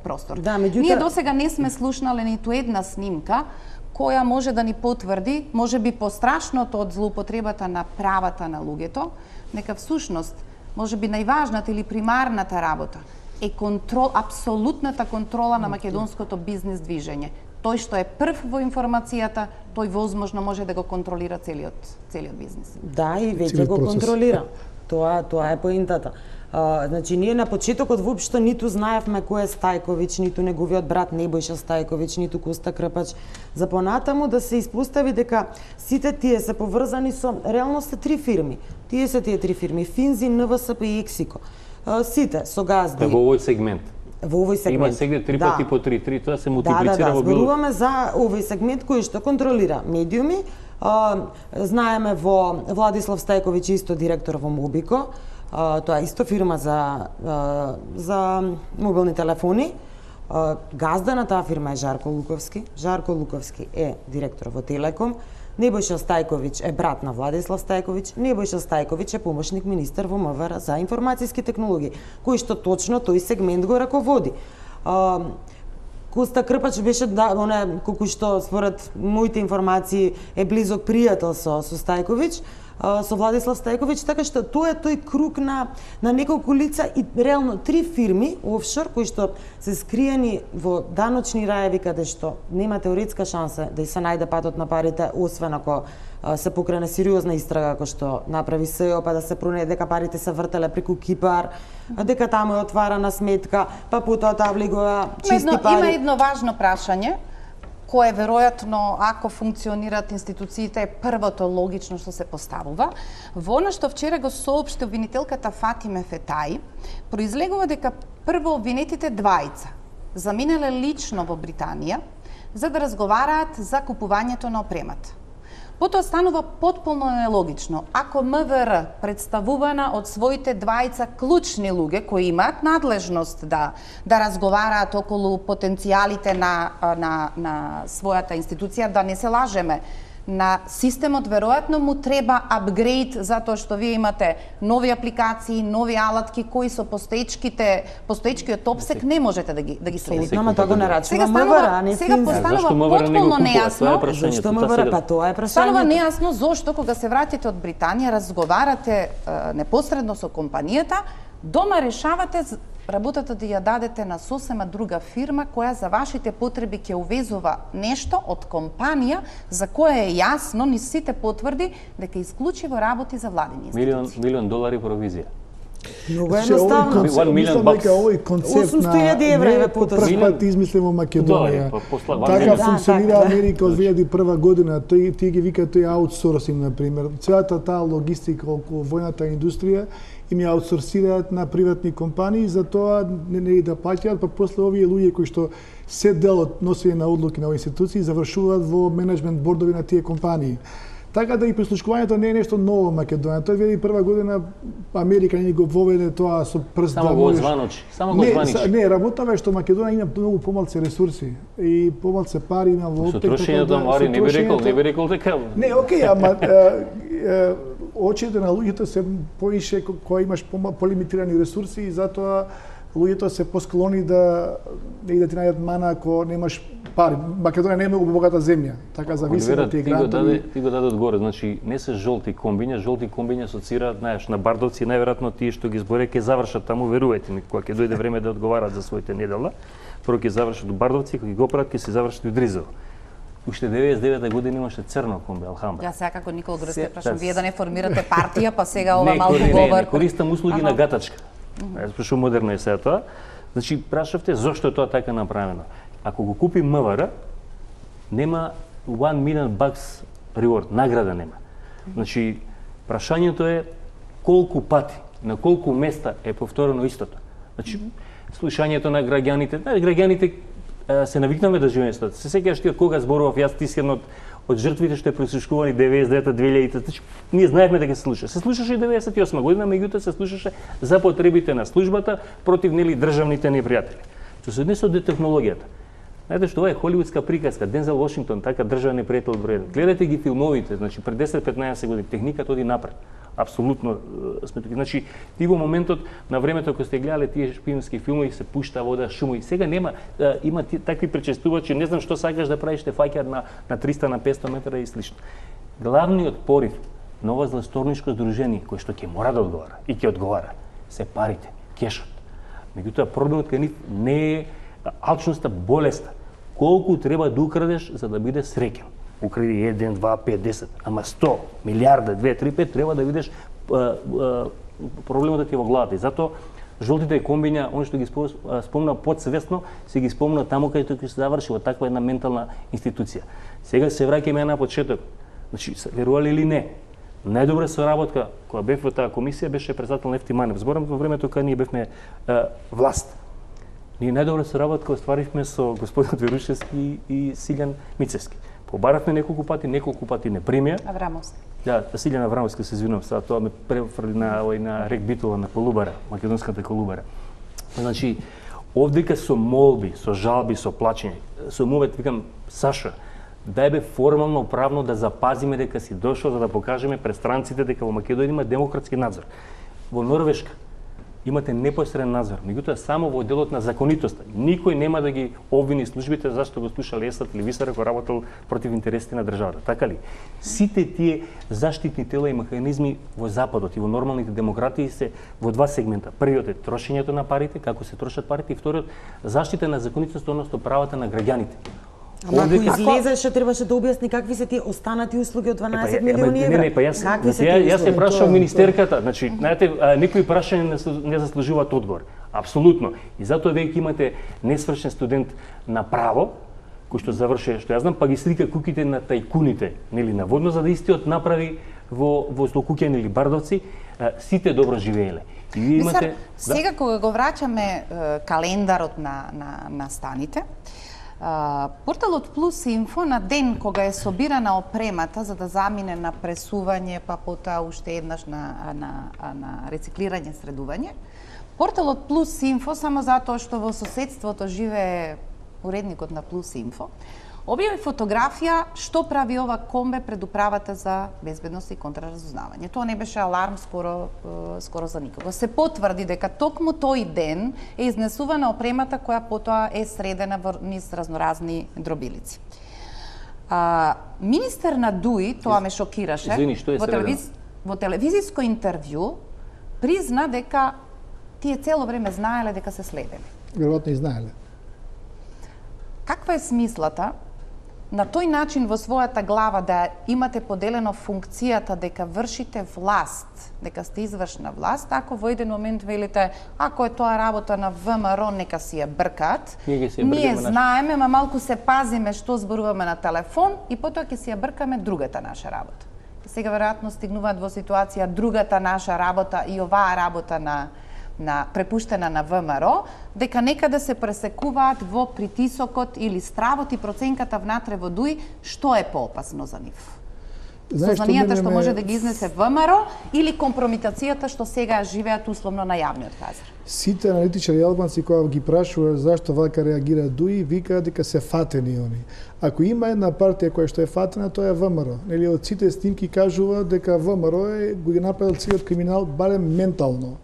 простор. Да, меѓутоа... Ние досега не сме слушнале ниту една снимка која може да ни потврди, може би пострашното од злоупотребата на правата на луѓето, нека всушност, може би најважната или примарната работа е контрол, апсолутната контрола на македонското бизнис движење. Тој што е прв во информацијата, тој возможно може да го контролира целиот целиот бизнис. Да, и веќе го контролира. Тоа тоа е поентата. А, значи, ние на почетокот воопшто ниту знаевме кој е Стајковиќ, ниту неговиот брат Небојша Стајковиќ, ниту Коста Крпач. За понатаму да се испостави дека сите тие се поврзани со реално се три фирми. Тие се тие три фирми: Финзи, Н В С П и Ексико. А, сите со газди. Во овој сегмент. Во овој сегмент. Има сега три пати да. по три, три, тоа се мултиплицира да, да, да. во било. Зборуваме за овој сегмент кој што контролира медиуми. А, знаеме во Владислав Стајковиќ исто директор во Мобико. А, тоа е исто фирма за а, за мобилни телефони. А, газда на таа фирма е Жарко Луковски. Жарко Луковски е директор во Телеком. Небојша Стајковиќ е брат на Владислав Стајковиќ. Небојша Стајковиќ е помошник министар во М В Р за информацијски технологии, кој што точно тој сегмент го раководи. А, Коста Крпач беше да, оне колку што според моите информации е близок пријател со со Стајковиќ, со Владислав Стајковиќ, така што тоа е тој круг на на неколку лица и реално три фирми офшор кои што се скриени во даночни раеви каде што нема теоретска шанса да и се најде патот на парите, освен ако се покрене сериозна истрага како што направи С Е О, па да се пронајде дека парите се вртеле преку Кипар, дека таму е отварана сметка, па потоа таа влегува чисти едно, пари. Има едно важно прашање кое веројатно, ако функционираат институциите, е првото логично што се поставува. Во она што вчера го соопшти обвинителката Фатиме Фетаи, произлегува дека прво обвинетите двајца заминале лично во Британија за да разговараат за купувањето на опремата. Потоа станува потполно нелогично ако М В Р, представувана од своите двајца клучни луѓе кои имаат надлежност да да разговараат околу потенцијалите на на на својата институција, да не се лажеме, на системот веројатно му треба апгрейд затоа што вие имате нови апликации, нови алатки кои со постоечките постоечкиот опсек не можете да ги да ги следите. Ама тоа го нарачува М В Р, а не сега постанува потполно нејасно. Зашто М В Р, па тоа е прашањето. Станува нејасно зошто кога се вратите од Британија, разговарате е, непосредно со компанијата, дома решавате работата да ја дадете на сосема друга фирма која за вашите потреби ќе увезува нешто од компанија за која е јасно ни сите потврди дека исклучиво работи за владини институции. Милион милион долари провизија. Многу едноставно. Мислам дека овој концепт на осумсто илјади евра е прв пат измислен во Македонија. Така функционира Америка од две илјади и прва година. Тој тие ги викаат тој аутсорсинг на пример. Целата таа логистика околу војната индустрија им ја аутсорсираат на приватни компании, за тоа не, не да плаќаат, па после овие луѓе кои што се дел од носење на одлуки на овие институции завршуваат во менеджмент бордови на тие компании. Така да и прислушкувањето не е нешто ново во Македонија. Тоа две илјади и прва година Америка не го воведе тоа со прст. Само го званочи, само го званичи. Не, не, работава е што Македонија има многу помалку ресурси и помалку пари има во опек. Со трошењето мари не би рекол, не би рекол дека. Не, окей, ама очите на луѓето се поише кога имаш полимитирани ресурси и затоа луѓето се посклони да не да ти најдат мана ако немаш пари. Македонија не е многу богата земја, така зависи од тие грантови. Ти го даде одгоре, значи не се жолти комбиња, жолти комбиња асоцираат, знаеш, на Бардовци, најверојатно тие што ги зборе ќе завршат таму, верувајте ми, кога ќе дојде време да одговарат за своите недела, прво ќе завршат у Бардовци, кога ги го прават ќе се завршат у Дризово. Уште деветдесет и девета година имаше црно комби Алхамбра. Ја сега како Никол Грсте прашам, вие да не формирате партија, па сега ова малку говор. Не, не, користам услуги на гатачка. Јас пишу модерно е сега тоа. Значи, прашавте зошто е тоа така направено. Ако го купи МВР, нема one million bucks reward, награда нема. Значи, прашањето е колку пати, на колку места е повторено истото. Значи, слушањето на граѓаните, на граѓаните се навикнаме да живееме со тоа. Се сеќаваш ти од кога зборував јас, ти си едно од жртвите што е прислушкувани деветдесет и девета две илјади. Значи, ние знаевме дека се слуша. Се слушаше и деветдесет и осма година, меѓутоа се слушаше за потребите на службата против нели државните непријатели. Што се однесе до технологијата. Знаете што ова е холивудска приказка, Дензел Вашингтон, така државен непријател број еден. Гледате ги филмовите, значи пред десет до петнаесет години техниката оди напред. Апсолутно сме тука. Значи, ти во моментот на времето кога сте гледале тие шпионски филмови се пушта вода, шуми. Сега нема, има такви пречестувачи, не знам што сакаш да правиш, те фаќаат на на триста на петстотини метра и слично. Главниот порив на ова зласторничко здружение кој што ќе мора да одговара и ќе одговара се парите, кешот. Меѓутоа проблемот кај нив не е алчноста, болеста. Колку треба да украдеш за да биде среќен? Укради еден, два, пет, десет, ама сто, милиарда, две, три, пет, треба да видиш проблемот да ти е во главата. И затоа жолтите комбиња, он што ги спомна подсвесно, се ги спомна таму каде ќе се заврши во таква една ментална институција. Сега се враќаме на почеток. Значи, верували или не, најдобра соработка која бев во таа комисија беше председател Нефти Манев. Зборам во времето кога ние бевме а, власт. Ние најдобра соработка остваривме со господин Верушевски и Силјан Мицевски. Побаравме неколку пати, неколку пати не примија. Аврамовски. Да, Силјан Аврамовски, се извинувам, сега тоа ме префрли на овој на Рек Битола на Колубара, македонската Колубара. Значи, овдека со молби, со жалби, со плачење, со мовет викам Саша, дај бе формално правно да запазиме дека си дошол за да покажеме пред странците дека во Македонија има демократски надзор. Во Норвешка имате непосреден надзор, меѓутоа само во делот на законитоста. Никој нема да ги обвини службите зашто го слуша Есат или Висар кој работел против интересите на државата. Така ли? Сите тие заштитни тела и механизми во Западот и во нормалните демократии се во два сегмента. Првиот е трошењето на парите, како се трошат парите, и вториот заштита на законитоста, односно правата на граѓаните. Ама ако излезеше, требаше да објасни какви се тие останати услуги од дванаесет милиони евра. Не, не, па јас, јас се прашав министерката, значи, знаете, некои прашања не заслужуваат одговор. Апсолутно. И затоа веќе имате несвршен студент на право, кој што заврши, што јас знам, па ги слика куките на тајкуните, нели, наводно за да истиот направи во во Злокуќани или Бардовци, сите добро живееле. И вие имате Мисар, сега кога го враќаме календарот на на на станите, Uh, порталот Плюс Инфо на ден кога е собирана опремата за да замине на пресување, па потоа уште еднаш на, на, на рециклирање, средување, порталот Плюс Инфо, само затоа што во соседството живее уредникот на Плюс Инфо, објави фотографија што прави ова комбе пред управата за безбедност и контраразузнавање. Тоа не беше аларм скоро скоро за никого. Се потврди дека токму тој ден е изнесувана опремата која потоа е средена во низ разноразни дробилици. А, министер на ДУИ, тоа ме шокираше, Извини, што е во, телевиз... во телевизиско интервју призна дека тие цело време знаеле дека се следени. Веројатно и знаеле. Каква е смислата на тој начин во својата глава да имате поделено функцијата дека вршите власт, дека сте извршна власт, ако во еден момент велите, ако е тоа работа на ВМРО, нека си ја бркат, ние, ние знаеме, ма малку се пазиме што зборуваме на телефон и потоа ќе си ја бркаме другата наша работа. И сега веројатно стигнуваат во ситуација другата наша работа и оваа работа на на препуштена на ВМРО, дека некаде се пресекуваат во притисокот или стравот и проценката внатре во ДУИ, што е поопасно за нив? Сознанијата што може да ги изнесе ВМРО или компрометацијата што сега живеат условно на јавниот пазар? Сите аналитичари албанци кога ги прашува зашто вака реагира ДУИ, викаат дека се фатени они. Ако има една партија која што е фатена, тоа е ВМРО. Нели од сите снимки кажува дека ВМРО е го ги направил целиот криминал барем ментално.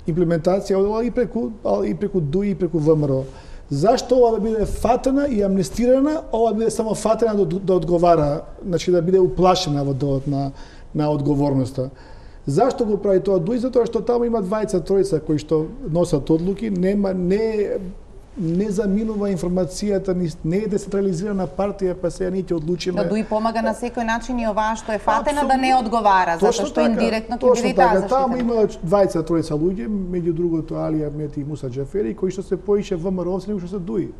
Имплементација одела и преку и преку ДУИ и преку ВМРО. Зашто ова да биде фатена и амнестирана, ова да биде само фатена да, да одговара, значи да биде уплашена во делот на на одговорноста. Зашто го прави тоа ДУИ? Затоа што таму има двајца тројца кои што носат одлуки, нема не не заминува информацијата, не е децентрализирана партија, па сега ние ќе одлучиме. Да ДУИ помага на секој начин и оваа што е фатена да не одговара, затоа што така, индиректно ќе биде таа заштитена. Таму има двајца тројца луѓе, меѓу другото Алија Ахмети и Муса Џафери, кои што се поише ВМРО-овци него што се ДУИ.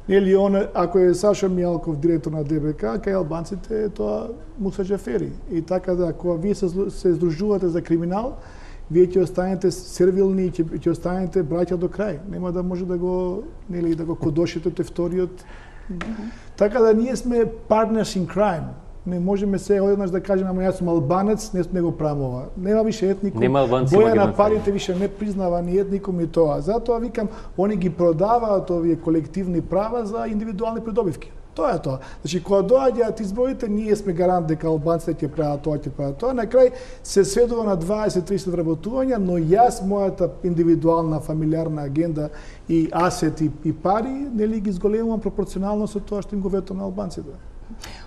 Нели он, ако е Сашо Мијалков директор на ДБК, кај албанците е тоа Муса Џафери. И така да, кога вие се, се здружувате за криминал, вие ќе останете сервилни и ќе, ќе останете браќа до крај. Нема да може да го, нели, да го кодошите тој вториот. Mm-hmm. Така да ние сме partners in crime. Не можеме се одеднаш да кажеме, ама јас сум албанец, не, не го правам ова. Нема више етникум. Боја на парите више не признава ни етникум и тоа. Затоа викам, они ги продаваат овие колективни права за индивидуални придобивки. Тоа е тоа. Значи, кога доаѓаат изборите, ние сме гарант дека албанците ќе прават тоа, ќе прават тоа. На крај се сведува на дваесет до триесет вработувања, но јас мојата индивидуална фамилиарна агенда и асет и, и пари, нели ги зголемувам пропорционално со тоа што им го ветувам на албанците.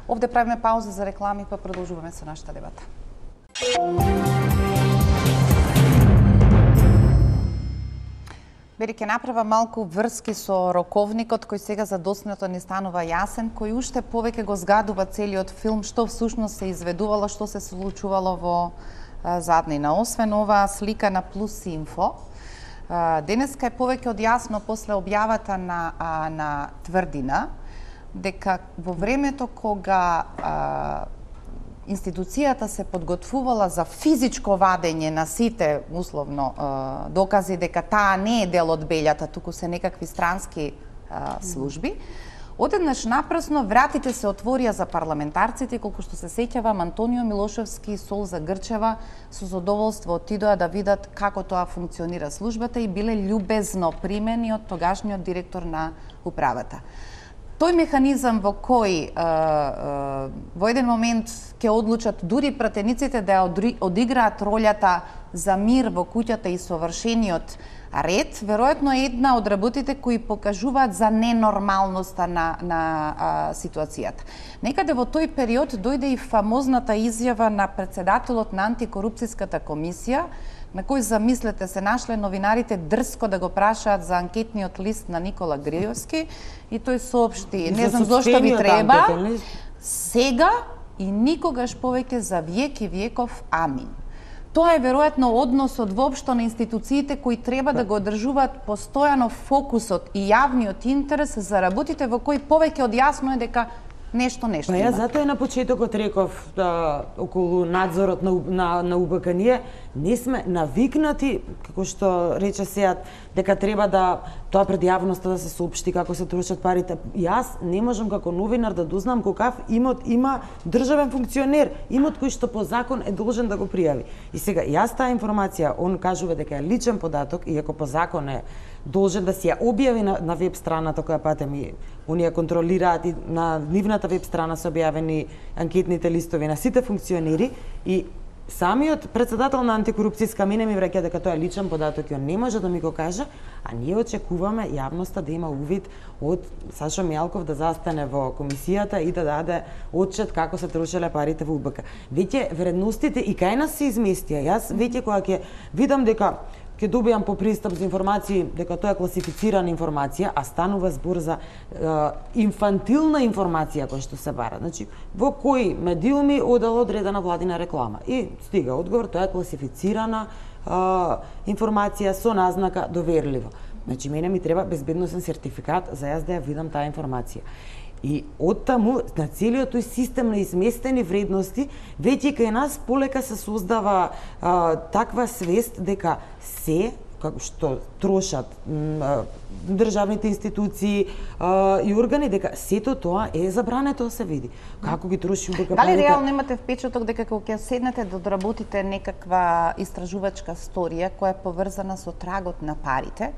Овде правиме пауза за реклами, па продолжуваме со нашата дебата. Бери, ќе направа малку врски со роковникот кој сега задоснато ни станува јасен, кој уште повеќе го згадува целиот филм, што всушност се изведувало, што се случувало во а, заднина. Освен оваа слика на Плюс Инфо, а, денеска е повеќе од јасно после објавата на, а, на Тврдина, дека во времето кога а, институцијата се подготвувала за физичко вадење на сите, условно, а, докази дека таа не е дел од белјата, туку се некакви странски а, служби, одеднаш напрасно вратите се отворија за парламентарците, колку што се сеќавам, Антонио Милошевски и Солза Грчева со задоволство отидоа да видат како тоа функционира службата и биле љубезно примени од тогашниот директор на управата. Тој механизам во кој а, а, во еден момент ќе одлучат дури пратениците да ја одиграат ролјата за мир во куќата и совршениот ред, веројатно е една од работите кои покажуваат за ненормалноста на, на а, ситуацијата. Некаде во тој период дојде и фамозната изјава на председателот на антикорупцијската комисија, на кој, замислете се, нашле новинарите дрско да го прашаат за анкетниот лист на Никола Гриевски и тој соопшти, не знам зошто ви треба, сега и никогаш повеќе за век и веков, амин. Тоа е веројатно односот воопшто на институциите кои треба да го одржуваат постојано фокусот и јавниот интерес за работите во кои повеќе од јасно е дека нешто нешто па има. Ја затоа на почетокот реков да, околу надзорот на, на, на УБК, ние не сме навикнати, како што рече Сеат, дека треба да тоа пред јавноста да се соопшти како се трошат парите. Јас не можам како новинар да дознам какав имот има државен функционер, имот кој што по закон е должен да го пријави. И сега, јас таа информација, он кажува дека е личен податок, иако по закон е должен да си ја објави на, на веб страната која пате ми оние контролираат и на нивната веб страна се објавени анкетните листови на сите функционери и самиот председател на антикорупцијска мене ми враќа дека тоа е личен податок и он не може да ми го каже, а ние очекуваме јавноста да има увид од Сашо Мијалков да застане во комисијата и да даде отчет како се трошеле парите во УБК. Веќе вредностите и кај нас се изместија. Јас веќе кога ќе видам дека ќе добијам по пристап за информации дека тоа е класифицирана информација, а станува збор за е, инфантилна информација која што се бара. Значи, во кои медиуми одела одредена владина реклама. И стига одговор, тоа е класифицирана е, информација со назнака доверливо. Значи, мене ми треба безбедносен сертификат за јас да ја видам таа информација. И оттаму, на целиот тој систем на изместени вредности, веќе кај нас полека се создава а, таква свест дека се како што трошат државните институции и органи, дека сето тоа е забрането да се види. Како ги троши УБК? Дали реално имате впечаток дека кога ќе седнете да доработите некаква истражувачка сторија која е поврзана со трагот на парите,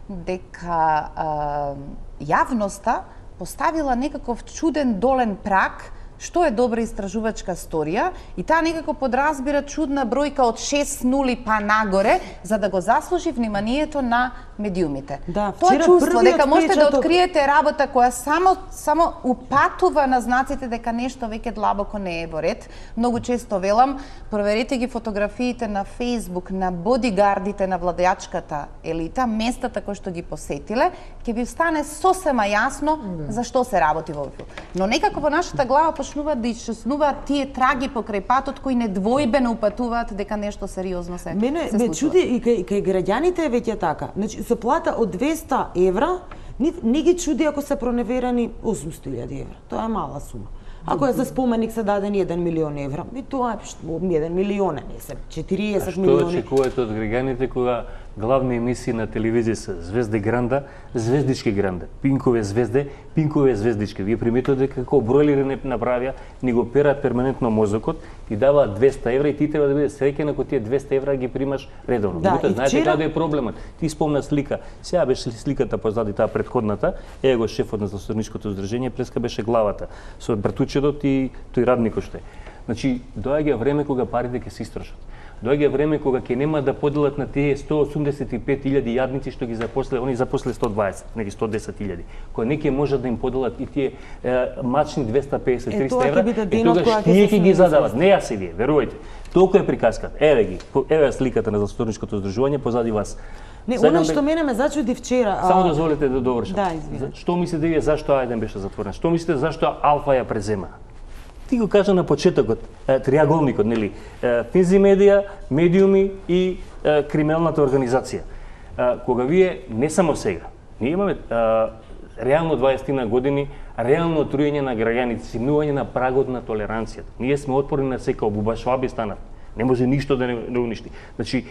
дека а, јавноста поставила некаков чуден долен праг што е добра истражувачка сторија и таа некако подразбира чудна бројка од шест нули па нагоре за да го заслужи вниманието на медиумите. Да, тоа чувство дека можете впечаток... да откриете работа која само само упатува на знаците дека нешто веќе длабоко не е во ред. Многу често велам, проверете ги фотографиите на Facebook на бодигардите на владеачката елита, местата кои што ги посетиле, ќе ви стане сосема јасно за што се работи во овој. Но некако во нашата глава почнуваат да исчезнуваат тие траги покрај патот кои недвојбено упатуваат дека нешто сериозно се Мене се ме случува. чуди и кај, кај граѓаните е веќе така. Значи со плата од двеста евра не, не ги чуди ако се проневерени осумсто илјади евра. Тоа е мала сума. Ако е за споменик се дадени еден милион евра, и тоа е еден милион, не се четириесет милиони. А што очекувате од граѓаните кога главни емисии на телевизија се Звезде Гранда, Звездички Гранда, Пинкове звезде, Пинкове звездички. Вие приметувате дека како бройлери не направија, ни го перат перманентно мозокот и даваат двеста евра и ти треба да биде среќен ако тие двеста евра ги примаш редовно. Да, Мегутоа, знаете вчера... каде е проблемот? Ти спомна слика. Сега беше сликата позади таа претходната, е го шефот на Засторничкото здружение, преска беше главата со братучедот и тој радникот што е. Значи, доаѓа време кога парите ќе се истрошат. Доаѓа време кога ќе нема да поделат на тие сто осумдесет и пет илјади јадници што ги запосле, они запосле сто дваесет, неги сто десет илјади. Кога не ќе можат да им поделат и тие е, мачни двеста песет до триста евра, е тогаш тие ќе ги задават, не јас и вие, верувајте. Толку е приказката. Еве ги, еве сликата на Засторничкото здружување позади вас. Не, она што мене ме зачуди вчера. Само дозволете да довршам. Да, извинете. Што мислите вие зашто Ајден беше затворен? Што мислите зашто Алфа ја презема? Ти го кажа на почетокот, триаголникот, нели? Финзи медија, медиуми и е, криминалната организација. Е, кога вие, не само сега, ние имаме е, реално дваесет години, реално труење на граѓаните, симнување на прагот на толеранцијата. Ние сме отпорни на сека, бубашваби станат. Не може ништо да не, не уништи. Значи,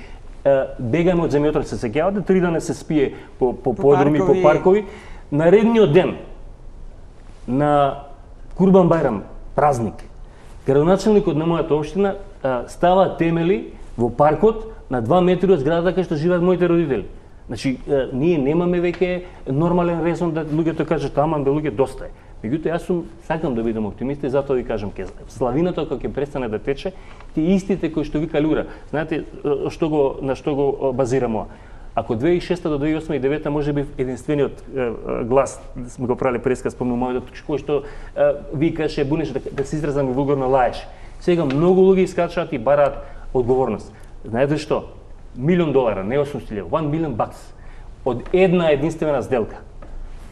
е, бегаме од земјотрес, се сеќавате, три дана се спие по, по, по подруми, паркови. по паркови. Наредниот ден на Курбан Бајрам, празник, градоначелникот на мојата општина а, става темели во паркот на два метри од зградата кај што живеат моите родители. Значи, а, ние немаме веќе нормален резон да луѓето кажат, аман бе луѓе доста е. Меѓутоа, јас сум сакам да бидам оптимист и затоа ви кажам, ке славината кога ќе престане да тече, тие истите кои што вика Люра, знаете што го на што го базирам ова? Ако две тисајќи и шеста до две тисајќи и осма и девета може би единствениот е, глас, сме го правиле пресказ, спомнувам мојот, кој што е, викаше, бунеше, да, да се изразам и вулгарно лаеше. Сега многу луѓе искачаат и бараат одговорност. Знаете што? Милион долара, не осумстотини илјади, one million bucks од една единствена сделка.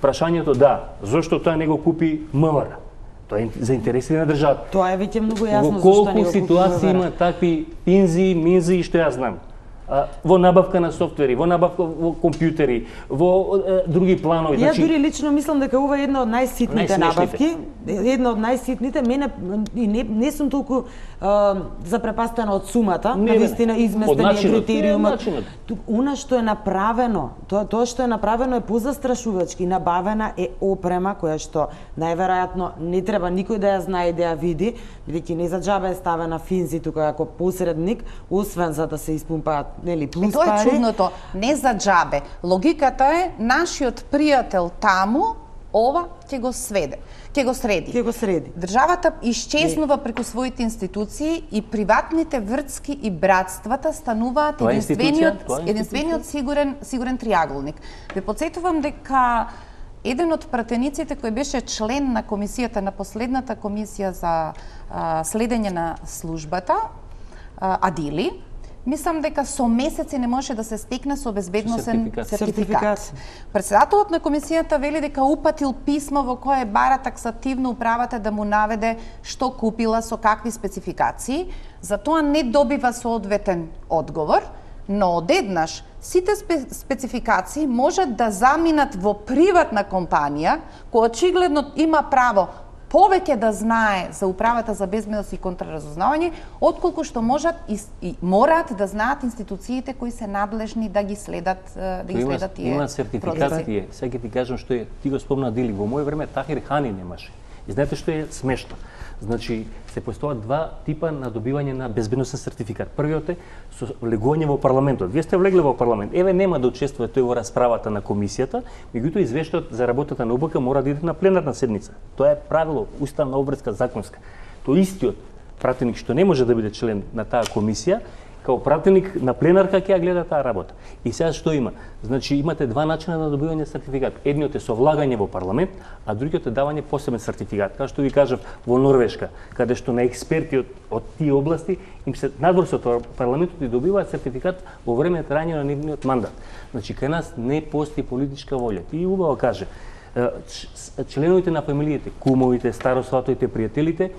Прашањето да, зошто тоа не го купи МВР? Тоа е за интереси на државата. Тоа е веќе многу јасно зошто не го купи МВР. Колку ситуации има такви пинзи, минзи, што јас знам. Во набавка на софтвери, во набавка во компјутери, во е, други планови. Ја дури лично мислам дека ова е една од најситните набавки, една од најситните. Мене и не, не сум толку а, запрепастена од сумата, не, навистина изместен е критериумот. Она што е направено, тоа тоа што е направено е позастрашувачки, набавена е опрема која што најверојатно не треба никој да ја знае и да ја види, бидејќи не за џабе е ставена Финзи тука како посредник, освен за да се испумпаат нели плюс пари. Тоа е чудното, не за џабе. Логиката е нашиот пријател таму ова ќе го сведе, ќе го среди. Ќе го среди. Државата исчезнува преку своите институции и приватните вртски и братствата стануваат тоа единствениот тоа единствениот сигурен сигурен триаголник. Ве потсетувам дека еден од пратениците кој беше член на комисијата на последната комисија за а, следење на службата, а, Адили, мислам дека со месеци не може да се стекне со безбедносен сертификат. сертификат. Председателот на комисијата вели дека упатил писмо во кое бара таксативно управата да му наведе што купила, со какви спецификации, затоа не добива соодветен одговор, но одеднаш сите спе спецификации можат да заминат во приватна компанија, која очигледно има право повеќе да знае за управата за безбедност и контраразузнавање, отколку што можат и, и мораат да знаат институциите кои се надлежни да ги следат да ги има, следат тие има сертификати тие. Сега ти кажам што е, ти го спомна Дили, во моје време Тахир Хани немаше. И знаете што е смешно? Значи, се постојат два типа на добивање на безбедносен сертификат. Првиот е со влегување во парламентот. Вие сте влегле во парламент. Еве нема да учествува тој во расправата на комисијата, меѓутоа извештајот за работата на ОБК мора да иде на пленарна седница. Тоа е правило, уставна обврска, законска. Тој истиот пратеник што не може да биде член на таа комисија, као пратеник на пленарка ќе ја гледа таа работа. И сега што има? Значи имате два начина на добивање сертификат. Едниот е со влагање во парламент, а другиот е давање посебен сертификат. Како што ви кажав во Норвешка, каде што на експерти од, од тие области им се надвор со парламентот и добиваат сертификат во време трајање на нивниот мандат. Значи кај нас не постои политичка волја. Ти убаво каже, членовите на фамилиите, кумовите, старосватовите, пријателите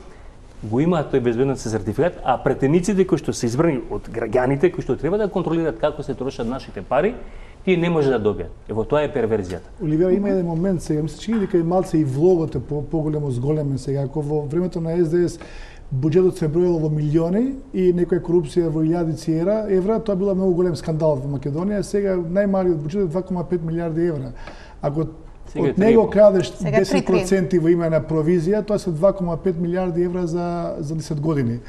го имаат тој безбедносен сертификат, а претениците кои што се избрани од граѓаните, кои што треба да контролираат како се трошат нашите пари, тие не може да добијат. Ево тоа е перверзијата. Оливера, има еден момент сега, ми се чини дека и малце и влогот е по поголемо зголемен сега, ако во времето на Ес Де Ес буџетот се броело во милиони и некоја корупција во илјадици евра, евра, тоа била многу голем скандал во Македонија, сега најмалиот буџет е два кома пет милијарди евра. Ако од него крадеш десет проценти во име на провизија, тоа се два кома пет милијарди евра за за десет години.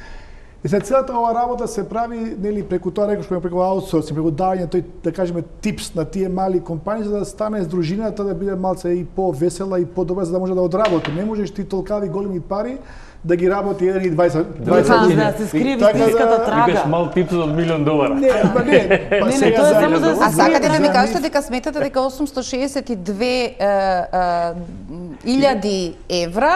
И се целата ова работа се прави нели преку тоа рекош преку аутсорсинг, преку давање тој да кажеме типс на тие мали компании за да стане здружината да биде малце и повесела и подобра за да може да одработи. Не можеш ти толкави големи пари да ги работи еден и дваесет дваесет да се скриви истинската трага. Викаш мал типс од милион долара. Не, па не, па не, тоа е само за А сакате да ми кажете дека сметате дека осумсто шеесет и две илјади евра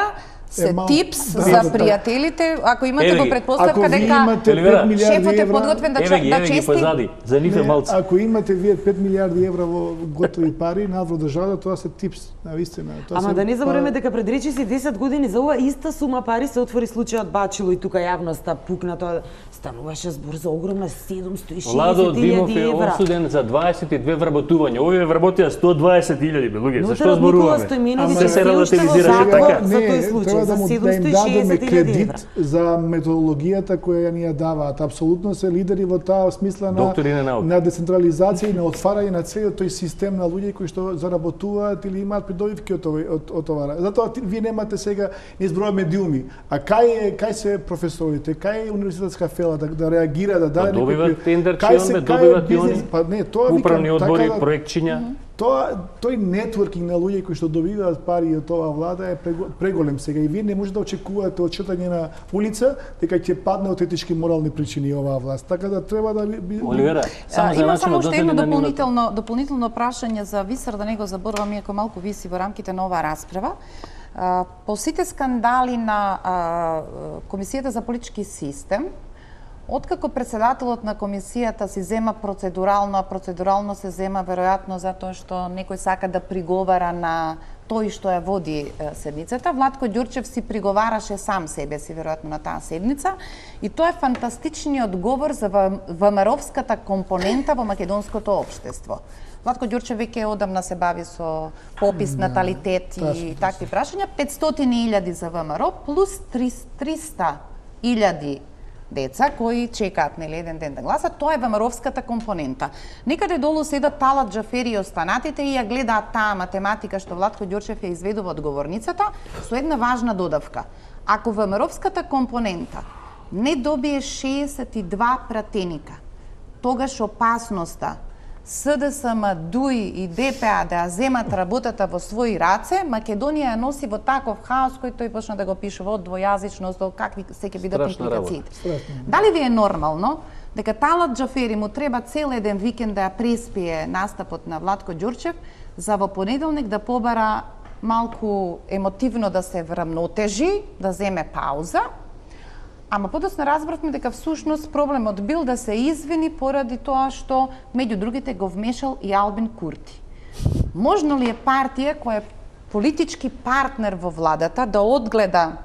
се типс да, за да, пријателите, ако имате го предпоставка ако дека шефот е подготвен да еве ги, еве ги позади, за нив е малце. Ако имате вие пет милијарди евра во готови пари навро државата, тоа се типс, навистина. Ама да не забориме дека пред речиси десет години за ова иста сума пари се отвори случајот Бачило и тука јавноста пукна, тоа стануваше збор за огромна седумсто и шеесет илјади евра. Владо Димов е осуден за дваесет и две вработувања. Овие вработија сто дваесет илјади луѓе. Зашто зборуваме? Се се релативизираше така. За тој случај да, му, да им дадеме кредит за методологијата која ни ја даваат. Апсолутно се лидери во таа смисла на, на децентрализација и на отварање на целиот тој систем на луѓе кои што заработуваат или имаат придобивки од ова. Од, од ова. Затоа вие немате сега не зборуваме медиуми. А кај кај се професорите, кај е универзитетска фела да, да реагира, да даде добиваат тендерчион, добиваат и они па не, тоа управни викам, одбори, така, проектчиња. Тоа тој нетворкинг на луѓе кои што добиваат пари од оваа влада е преголем сега и вие не можете да очекувате од читање на улица дека ќе падне од етички морални причини оваа власт. Така да треба да би Оливера, само за има само начинот уште едно на дополнително дополнително прашање за Висар, да не го заборувам, иако малку виси во рамките на оваа расправа. По сите скандали на Комисијата за политички систем, откако председателот на комисијата си зема процедурално, а процедурално се зема веројатно затоа што некој сака да приговара на тој што ја води седницата, Владко Ѓурчев си приговараше сам себе си веројатно на таа седница и тоа е фантастичниот говор за ВМРО-вската компонента во македонското општество. Владко Ѓурчев веќе одамна се бави со попис, наталитет и такви прашања, петстотини илјади за ВМРО плюс триста илјади деца кои чекаат нели еден ден да гласат, тоа е ВМРО-вската компонента. Некаде долу седат Талат Џафери и останатите и ја гледаат таа математика што Владко Ѓурчев ја изведува од говорницата со една важна додавка. Ако ВМРО-вската компонента не добие шеесет и два пратеника, тогаш опасноста СДСМ, ДУИ и ДПА да ја земат работата во своји раце, Македонија ја носи во таков хаос кој тој почна да го пишува од двојазичност до какви се ќе бидат импликациите. Дали ви е нормално дека Талат Џафери му треба цел еден викенд да ја преспие настапот на Владко Ѓурчев за во понеделник да побара малку емотивно да се врамнотежи, да земе пауза, ама подоцна разбравме дека всушност проблемот бил да се извини поради тоа што меѓу другите го вмешал и Албин Курти. Можно ли е партија која е политички партнер во владата да одгледа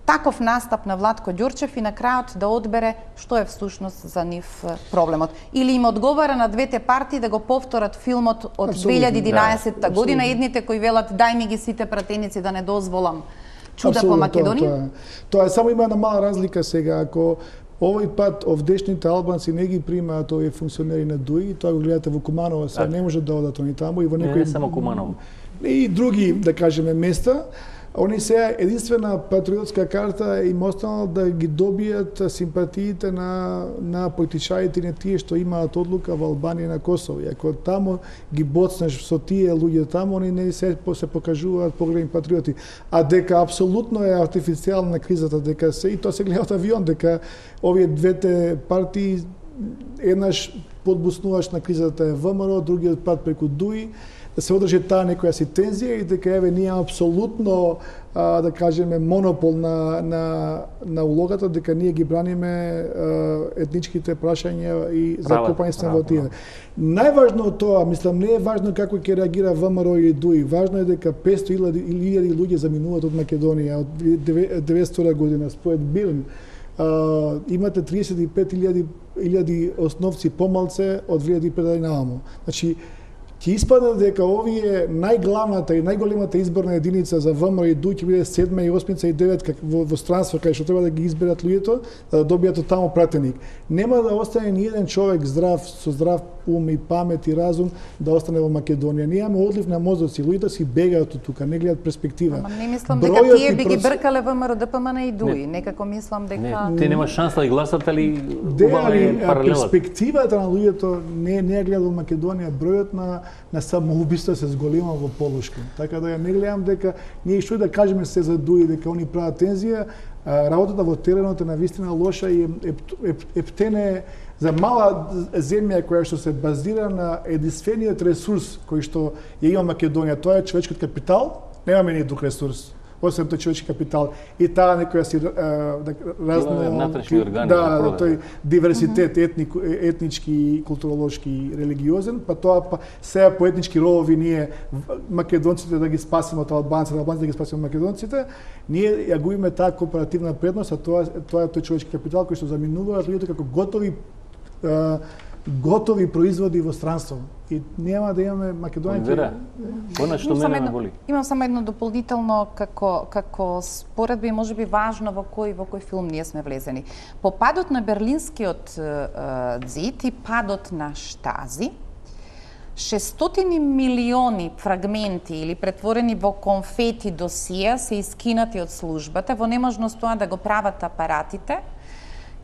таков настап на Владко Ѓурчев и на крајот да одбере што е всушност за нив проблемот? Или им одговара на двете партии да го повторат филмот од две илјади и единаесетта година, едните кои велат дај ми ги сите пратеници да не дозволам чуда по Македонија? Тоа, тоа, тоа е само има една мала разлика сега, ако овој пат овдешните албанци не ги примаат овие функционери на ДУИ, тоа го гледате во Куманово, сега не може да одат они таму и во некои... Не, не само Куманово. И други, да кажеме, места. Они сега единствена патриотска карта им останало да ги добијат симпатиите на, на политичарите на тие што имаат одлука во Албанија и на Косово. И ако таму ги боцнеш со тие луѓе таму, они не се, се покажуваат поголеми патриоти. А дека апсолутно е артифицијална кризата, дека се и тоа се гледа од авион, дека овие двете партии еднаш подбуснуваш на кризата е ВМРО, другиот пат преку ДУИ, да се одржи таа некоја си тензија и дека еве ние апсолутно а, да кажеме монопол на на на улогата, дека ние ги браниме а, етничките прашања и закопањето во тие. Најважно од тоа, мислам, не е важно како ќе реагира ВМРО или ДУИ, важно е дека петстотини илјади луѓе заминуваат од Македонија од деветстотина година според Билн. Uh, имате триесет и пет илјади основци помалце од две илјади и пет наваму. Значи, ќе испадне дека овие најглавната и најголемата изборна единица за ВМРО и ДУИ ќе биде седма и осмица и деветка во, во странство, кај што треба да ги изберат луѓето, да добијат од таму пратеник. Нема да остане ни еден човек здрав, со здрав ум и памет и разум да остане во Македонија. Ние имаме одлив на мозоци, луѓето си бегаат од тука, не гледат перспектива. Ама не мислам дека тие би ги бркале ВМРО, ДПМН и ДУИ. Не. Некако мислам дека... Не, те нема шанса да гласат, али убава е паралелот. Перспективата на луѓето не не гледа во Македонија, бројот на на самоубиства се зголема во полошки. Така да ја не гледам дека ние што да кажеме се за ДУИ дека они прават тензија, работата во теренот е навистина лоша и ептене за мала земја која што се базира на единствениот ресурс кој што ја има Македонија, тоа е човечкиот капитал, немаме ни друг ресурс освен тој човечки капитал и таа некоја си разно натрешни органи да, да тој диверситет етник, етнички, културолошки, религиозен, па тоа па сега по етнички ровови ние македонците да ги спасиме од албанците, албанците да ги спасиме од македонците, ние ја губиме таа кооперативна предност, а тоа тоа е тој човечки капитал кој што заминуваат луѓето како готови а, готови производи во странство. И нема да имаме Македонија. Вера, она што мене ме боли. Имам само едно дополнително како како споредба и можеби важно во кој во кој филм ние сме влезени. По падот на Берлинскиот ѕид и падот на Штази, шестстотини милиони фрагменти или претворени во конфети досија се искинати од службата во неможност тоа да го прават апаратите,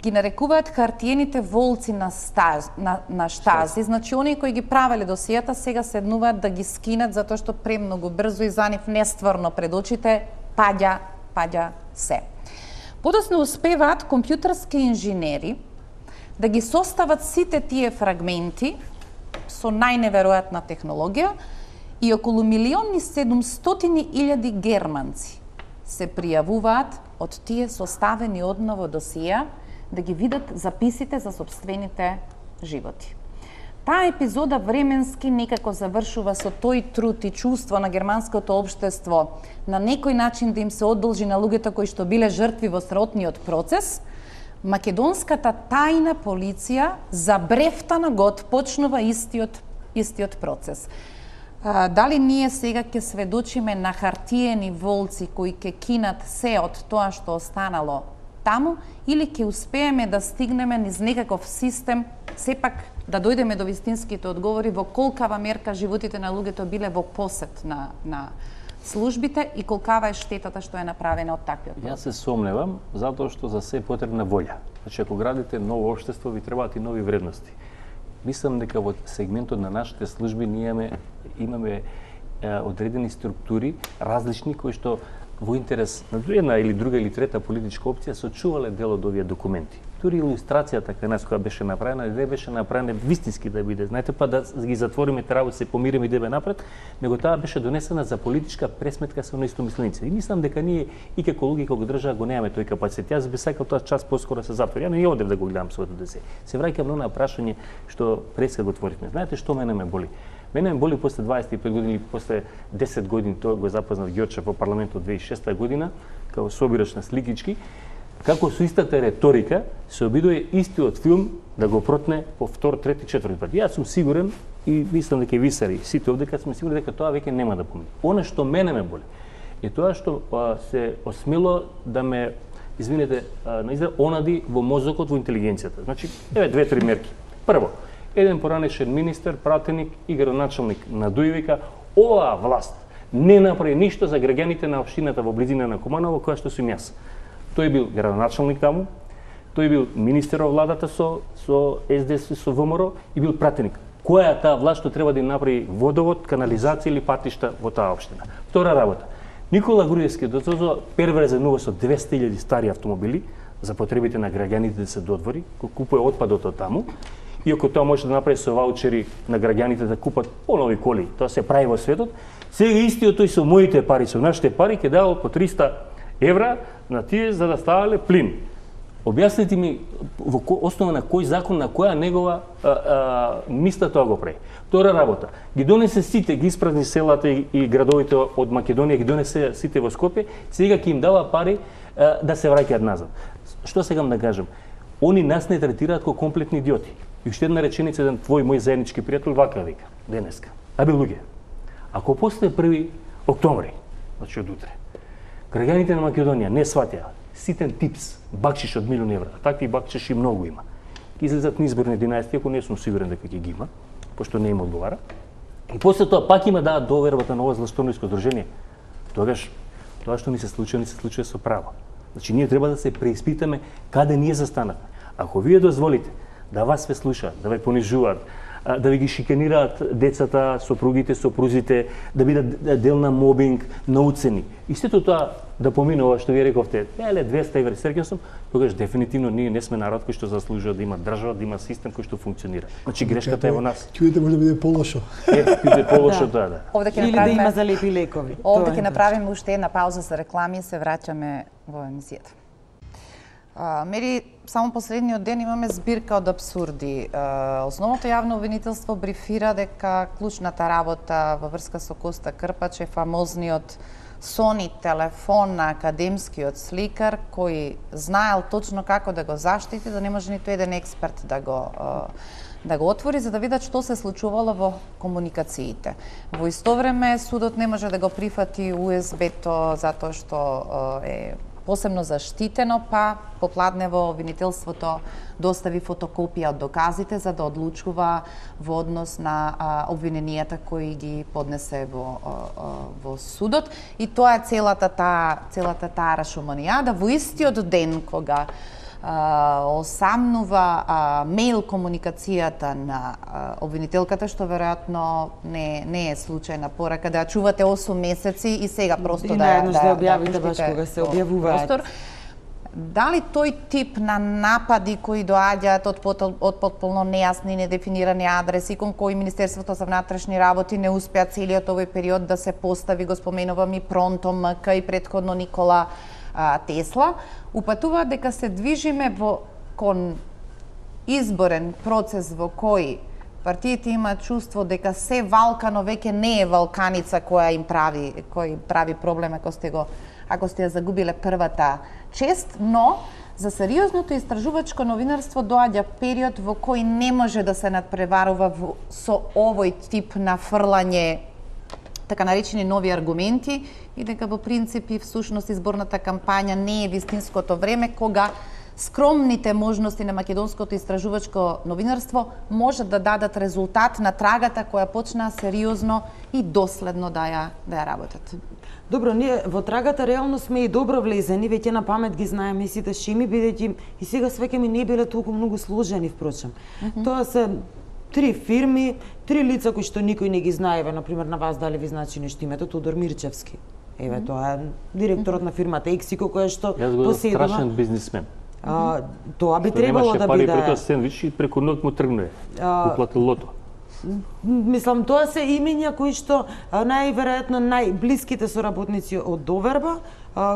ги нарекуваат хартиените волци на, стаз, на, на Штази. Значи, оние кои ги правеле досијата сега седнуваат да ги скинат затоа што премногу брзо и за нив нестварно пред очите паѓа, паѓа се. Подоцна успеваат компјутерски инженери да ги состават сите тие фрагменти со најневеројатна технологија и околу милион и седумстотини илјади германци се пријавуваат од тие составени одново досија да ги видат записите за собствените животи. Таа епизода временски некако завршува со тој труд и чувство на германското општество на некој начин да им се одолжи на луѓето кои што биле жртви во сротниот процес. Македонската тајна полиција за брефтана год почнува истиот истиот процес. А, дали ние сега ќе сведочиме на хартиени волци кои ќе кинат се од тоа што останало таму, или ќе успееме да стигнеме низ некаков систем, сепак да дојдеме до вистинските одговори во колкава мерка животите на луѓето биле во посет на, на службите и колкава е штетата што е направена од таквиот процес. Јас се сомневам, затоа што за се е потребна волја. Значи, ако градите ново општество, ви требаат и нови вредности. Мислам дека во сегментот на нашите служби ние имаме, имаме е, одредени структури, различни, кои што во интерес на една или друга или трета политичка опција сочувале дел од овие документи. Дури илустрацијата кај нас која беше направена, не беше направена вистински да биде, знаете, па да ги затвориме треба се помириме и да бе напред, него таа беше донесена за политичка пресметка со неистомисленици. И мислам дека ние и како луѓе како држава го немаме тој капацитет. Јас би сакал тоа час поскоро се затвори. Ја не одев да го гледам своето десе. Се враќам на прашање што преска го отворивме. Знаете што мене ме боли? Мене ме боли после дваесет и пет години, после десет години, тоа го запознав Ѓорчев во парламентот две илјади и шеста година, како собирач на сликички, како со истата риторика се обидува истиот филм да го протне по втор, трети, четврти пат. Јас сум сигурен и мислам дека и висари сите овде дека сме сигурни дека тоа веќе нема да помине. Она што мене ме боли е тоа што а, се осмело да ме, извинете, а, на израз, онади во мозокот, во интелигенцијата. Значи, еве две-три мерки. Прво, еден поранешен министер, пратеник и градоначалник на Дуј вика, оваа власт не направи ништо за граѓаните на општината во близина на Куманово, која што сум јас. Тој бил градоначалник таму, тој бил министер во владата со со С Д С, со В М Р и бил пратеник. Која е таа власт што треба да им направи водовод, канализација или патишта во таа општина? Втора работа. Никола Груевски дозозо перверзен увоз од двесте илјади стари автомобили за потребите на граѓаните да се додвори, кој купува отпадот од таму. Иако тоа може да направи со ваучери на граѓаните да купат понови коли, тоа се прави во светот, сега истиот тој со моите пари, со нашите пари, ќе давал по триста евра на тие за да ставале плин. Објаснете ми во основа на кој закон, на која негова а, а, мисла тоа го прави. Втора работа, ги донесе сите, ги испразни селата и, и градовите од Македонија, ги донесе сите во Скопје, сега ќе им дава пари а, да се враќаат назад. Што сегам да кажам? Они нас не третираат како комплетни идиоти. И уште една реченица, еден твој мој заеднички пријател вака вика денеска. Абе луѓе, ако после први октомври, значи од утре, граѓаните на Македонија не сватеа ситен типс, бакшиш од милион евра, а такви бакшиши многу има. Ки излезат на изборни единаесет, ако не сум сигурен дека ќе ги има, пошто не им одговара. И после тоа пак има да довербата на ова злашторниско здружение. Тогаш тоа што ни се случува, ни се случува со право. Значи ние треба да се преиспитаме каде ние застанавме. Ако вие дозволите да вас ве слушаат, да ве понижуваат, да ви ги шиканираат децата, сопругите, сопрузите, да бидат дел на мобинг, на уцени. И сето тоа да поминува што ви рековте, еле двесте евра, среќен сум, тогаш дефинитивно ние не сме народ кој што заслужува да има држава, да има систем кој што функционира. Значи грешката е во нас. Ќе може да биде полошо. Е, биде полошо тоа, да. Овде ќе Или да има залепи лекови. Овде ќе направиме уште една пауза за реклами и се враќаме во емисијата. А, мери, само последниот ден имаме збирка од абсурди. А, основното јавно обвинителство брифира дека клучната работа во врска со Коста Крпач е фамозниот Sony телефон на академскиот сликар кој знаел точно како да го заштити, да не може ниту еден експерт да го да го отвори за да видат што се случувало во комуникациите. Во исто време судот не може да го прифати У Ес Б-то затоа што е посебно заштитено, па попладнево обвинителството достави фотокопија од доказите за да одлучува во однос на а, обвиненијата кои ги поднесе во, а, а, во судот. И тоа е целата таа целата таа рашомонијада во истиот ден кога а, осамнува а, мејл комуникацијата на а, обвинителката, што веројатно не не е случајна порака да ја чувате осум месеци и сега просто и да да, да, да објавите баш кога се објавуваат. Дали тој тип на напади кои доаѓаат од, од потполно нејасни и недефинирани адреси кон кои Министерството за внатрешни работи не успеа целиот овој период да се постави, го споменувам и Пронто М К и претходно Никола а, Тесла, упатуваат дека се движиме во кон изборен процес во кој партиите имаат чувство дека се валкано веќе не е валканица која им прави кој прави проблем ако сте го ако сте ја загубиле првата чест, но за сериозното истражувачко новинарство доаѓа период во кој не може да се надпреварува во, со овој тип на фрлање така наречени нови аргументи и дека во принцип и всушност изборната кампања не е вистинското време кога скромните можности на македонското истражувачко новинарство може да дадат резултат на трагата која почнаа сериозно и доследно да ја да ја работат. Добро, ние во трагата реално сме и добро влезени, веќе на памет ги знаеме сите шеми, бидејќи и сега свеќе ми не биле толку многу сложени впрочем. Mm -hmm. Тоа се три фирми, три лица кои што никој не ги знае, еве на пример на вас дали ви значи нешто името Тодор Мирчевски. Еве mm -hmm. тоа е директорот на фирмата Ексико која што поседува страшен бизнисмен. А, тоа би требало да биде. Пари прето сендвич и преку ноќ му тргнува. Уплатил лото. Мислам, тоа се имења кои што најверојатно најблиските соработници од Доверба,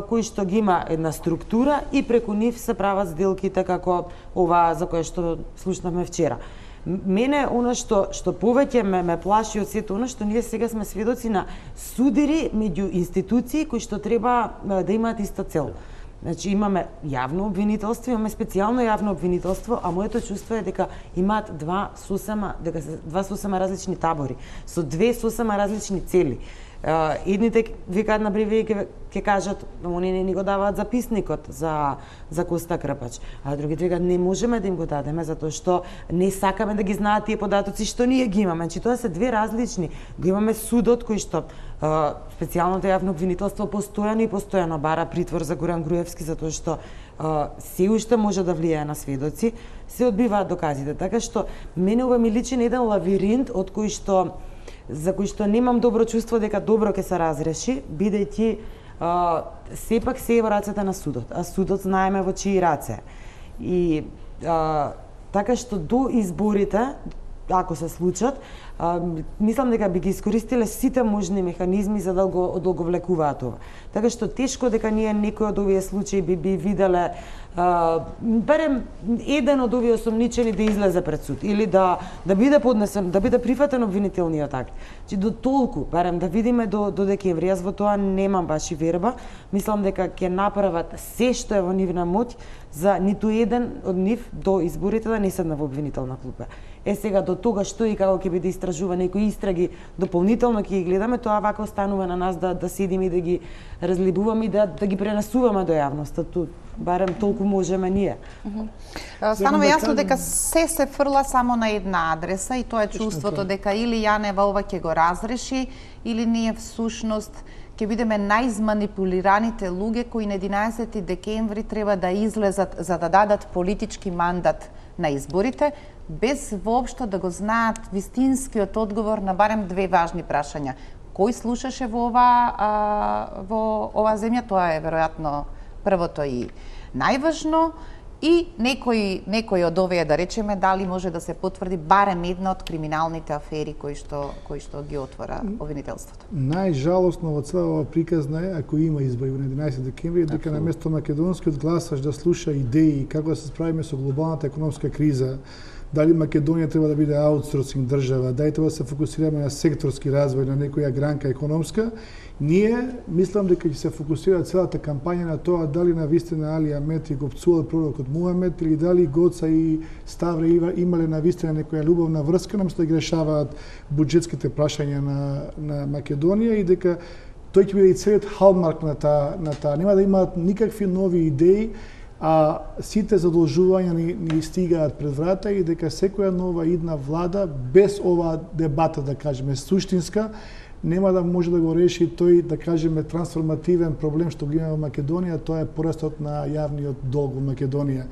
кои што ги има една структура и преку нив се прават сделките како ова за кое што слушнавме вчера. Мене она што што повеќе ме, ме плаши од сето она што ние сега сме сведоци на судири меѓу институции кои што треба да имаат иста цел. Значи имаме јавно обвинителство, имаме специјално јавно обвинителство, а моето чувство е дека имаат два сосема, дека се два сосема различни табори, со две сосема различни цели. Едните викаат на привеј ќе ќе кажат, они не ни го даваат записникот за за Коста Крпач, а другите викаат не можеме да им го дадеме затоа што не сакаме да ги знаат тие податоци што ние ги имаме. Значи тоа се две различни. Го имаме судот кој што специјалното јавно обвинителство постојано и постојано бара притвор за Горан Груевски затоа што се уште може да влијае на сведоци, се одбиваат доказите. Така што мене ова ми личи на еден лавиринт од кој што за кој што немам добро чувство дека добро ќе се разреши, бидејќи сепак се е во рацете на судот, а судот знаеме во чии раце. И а, така што до изборите, ако се случат, а, мислам дека би ги искористиле сите можни механизми за да го одолговлекуваат ова. Така што тешко дека ние некој од овие случаи би би виделе а, барем еден од овие осомничени да излезе пред суд или да да биде поднесен, да биде прифатен обвинителниот акт. Чи до толку, барем да видиме до до декември. Јас во тоа немам баш и верба. Мислам дека ќе направат се што е во нивна моќ за ниту еден од нив до изборите да не седне во обвинителна клупа. Е сега до тога што и како ќе биде истражувано некои истраги дополнително ќе ги гледаме, тоа вака останува на нас да да седиме и да ги разлибуваме и да да ги пренесуваме до јавноста. Ту барем толку можеме ние. Mm -hmm. Станува јасно дека се се фрла само на една адреса и тоа е чувството дека или Јанева ова ќе го разреши или ние всушност ќе бидеме најизманипулираните луѓе кои на единаесети декември треба да излезат за да дадат политички мандат на изборите, без воопшто да го знаат вистинскиот одговор на барем две важни прашања. Кој слушаше во ова а, во оваа земја, тоа е веројатно првото и најважно, и некој некој од овие, да речеме, дали може да се потврди барем една од криминалните афери кои што кои што ги отвора обвинителството. Најжалосно во цела ова приказна е ако има избори на единаесети декември, дека наместо македонскиот гласаш да слуша идеи како да се справиме со глобалната економска криза, дали Македонија треба да биде аутсорсинг држава, дали треба да се фокусираме на секторски развој, на некоја гранка економска, ние мислам дека ќе се фокусира целата кампања на тоа дали на вистина Али Амет и го пцувал пророкот Мухамед или дали Гоца и Ставре имале на вистина некоја љубовна врска, наместо да ги решаваат буџетските прашања на на Македонија и дека тој ќе биде и целиот халмарк на таа на таа. Нема да имаат никакви нови идеи, а сите задолжувања ни, ни стигаат пред врата и дека секоја нова идна влада, без оваа дебата, да кажеме, суштинска, нема да може да го реши тој, да кажеме, трансформативен проблем што го има во Македонија, тоа е порастот на јавниот долг во Македонија.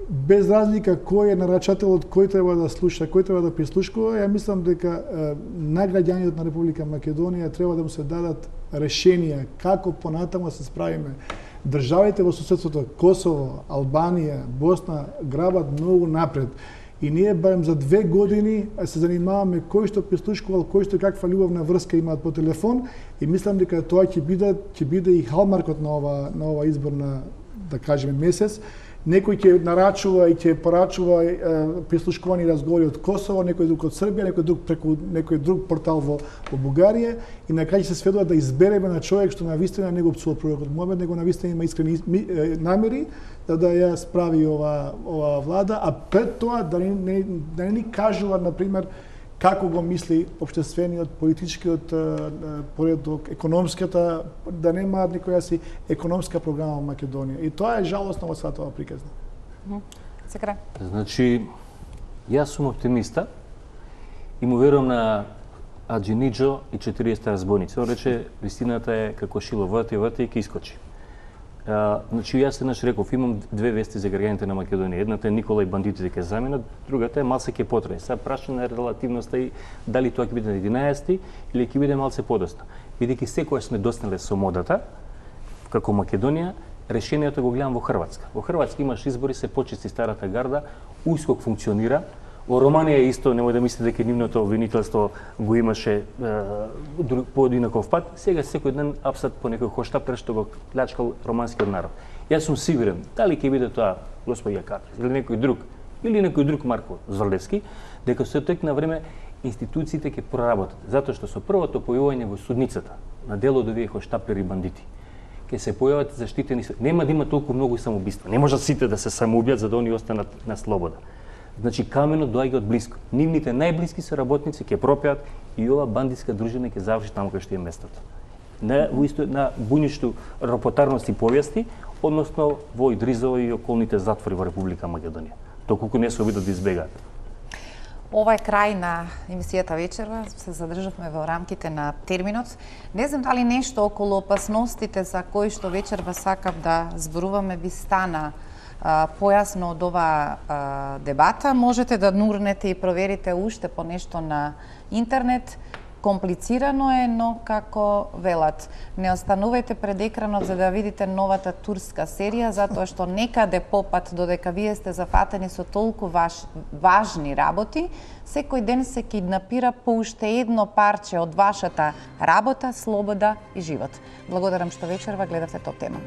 Без разлика кој е нарачателот, кој треба да слуша, кој треба да прислушкува, ја мислам дека на граѓаните на Република Македонија треба да му се дадат решенија како понатаму да се справиме. Државите во соседството Косово, Албанија, Босна грабат многу напред. И ние барем за две години се занимаваме кој што прислушкувал, кој што каква љубовна врска имаат по телефон и мислам дека тоа ќе биде ќе биде и халмаркот на ова на ова изборна, да кажеме, месец. Некој ќе нарачува и ќе порачува е, прислушкувани разговори од Косово, некој друг од Србија, некој друг преку некој друг портал во, во Бугарија и на крај ќе се сведува да избереме на човек што навистина не го пцува пророкот Мухамед, него навистина има искрени намери да да ја справи ова ова влада, а пред тоа да не, не, да не ни кажува, на пример, како го мисли општествениот, политичкиот поредок, економската, да немаат никоја си економска програма во Македонија. И тоа е жалосно во сата ова приказна. Секре. Значи, јас сум оптимиста и му верувам на Аџиниџо и четириесет разбойници. Он рече, вистината е како шило, врти, врти и ќе искочи. Uh, значи, јас еднаш реков, имам две вести за граѓаните на Македонија. Едната е Никола и бандитите ќе заменат, другата е малце ќе потрае. Сега прашање на релативноста и дали тоа ќе биде на единаесети или ќе биде малце подоцна. Бидејќи секоја сме достигнале со модата, како Македонија, решението го гледам во Хрватска. Во Хрватска имаш избори, се почисти старата гарда, УСКОК функционира. Во Романија исто, немој да мислите дека нивното обвинителство го имаше е, по одинаков пат. Сега секој ден апсат по некој хоштап што го плячкал романскиот народ. Јас сум сигурен, дали ќе биде тоа господја Катрис или некој друг, или некој друг Марко Зорлевски, дека со тек на време институциите ќе проработат, затоа што со првото појавување во судницата на дело од овие хоштаплери бандити, ќе се појават заштитени, нема да има толку многу самоубиства. Не може сите да се самоубијат за да они останат на слобода. Значи каменот доаѓа од блиско. Нивните најблиски соработници ќе пропеат и ова бандитска дружина ќе заврши таму кај што е местото. На во исто на буњишто рапотарности повести, односно во Идризово и околните затвори во Република Македонија. Доколку не се обидат да избегаат. Ова е крај на емисијата вечерва, се задржавме во рамките на терминот. Не знам дали нешто околу опасностите за кои што вечерва сакав да зборуваме ви стана а, појасно од оваа а, дебата. Можете да нурнете и проверите уште по нешто на интернет. Комплицирано е, но како велат, не останувајте пред екранот за да видите новата турска серија, затоа што некаде попат, додека вие сте зафатени со толку важ, важни работи, секој ден се киднапира по уште едно парче од вашата работа, слобода и живот. Благодарам што вечерва гледавте Топ тема.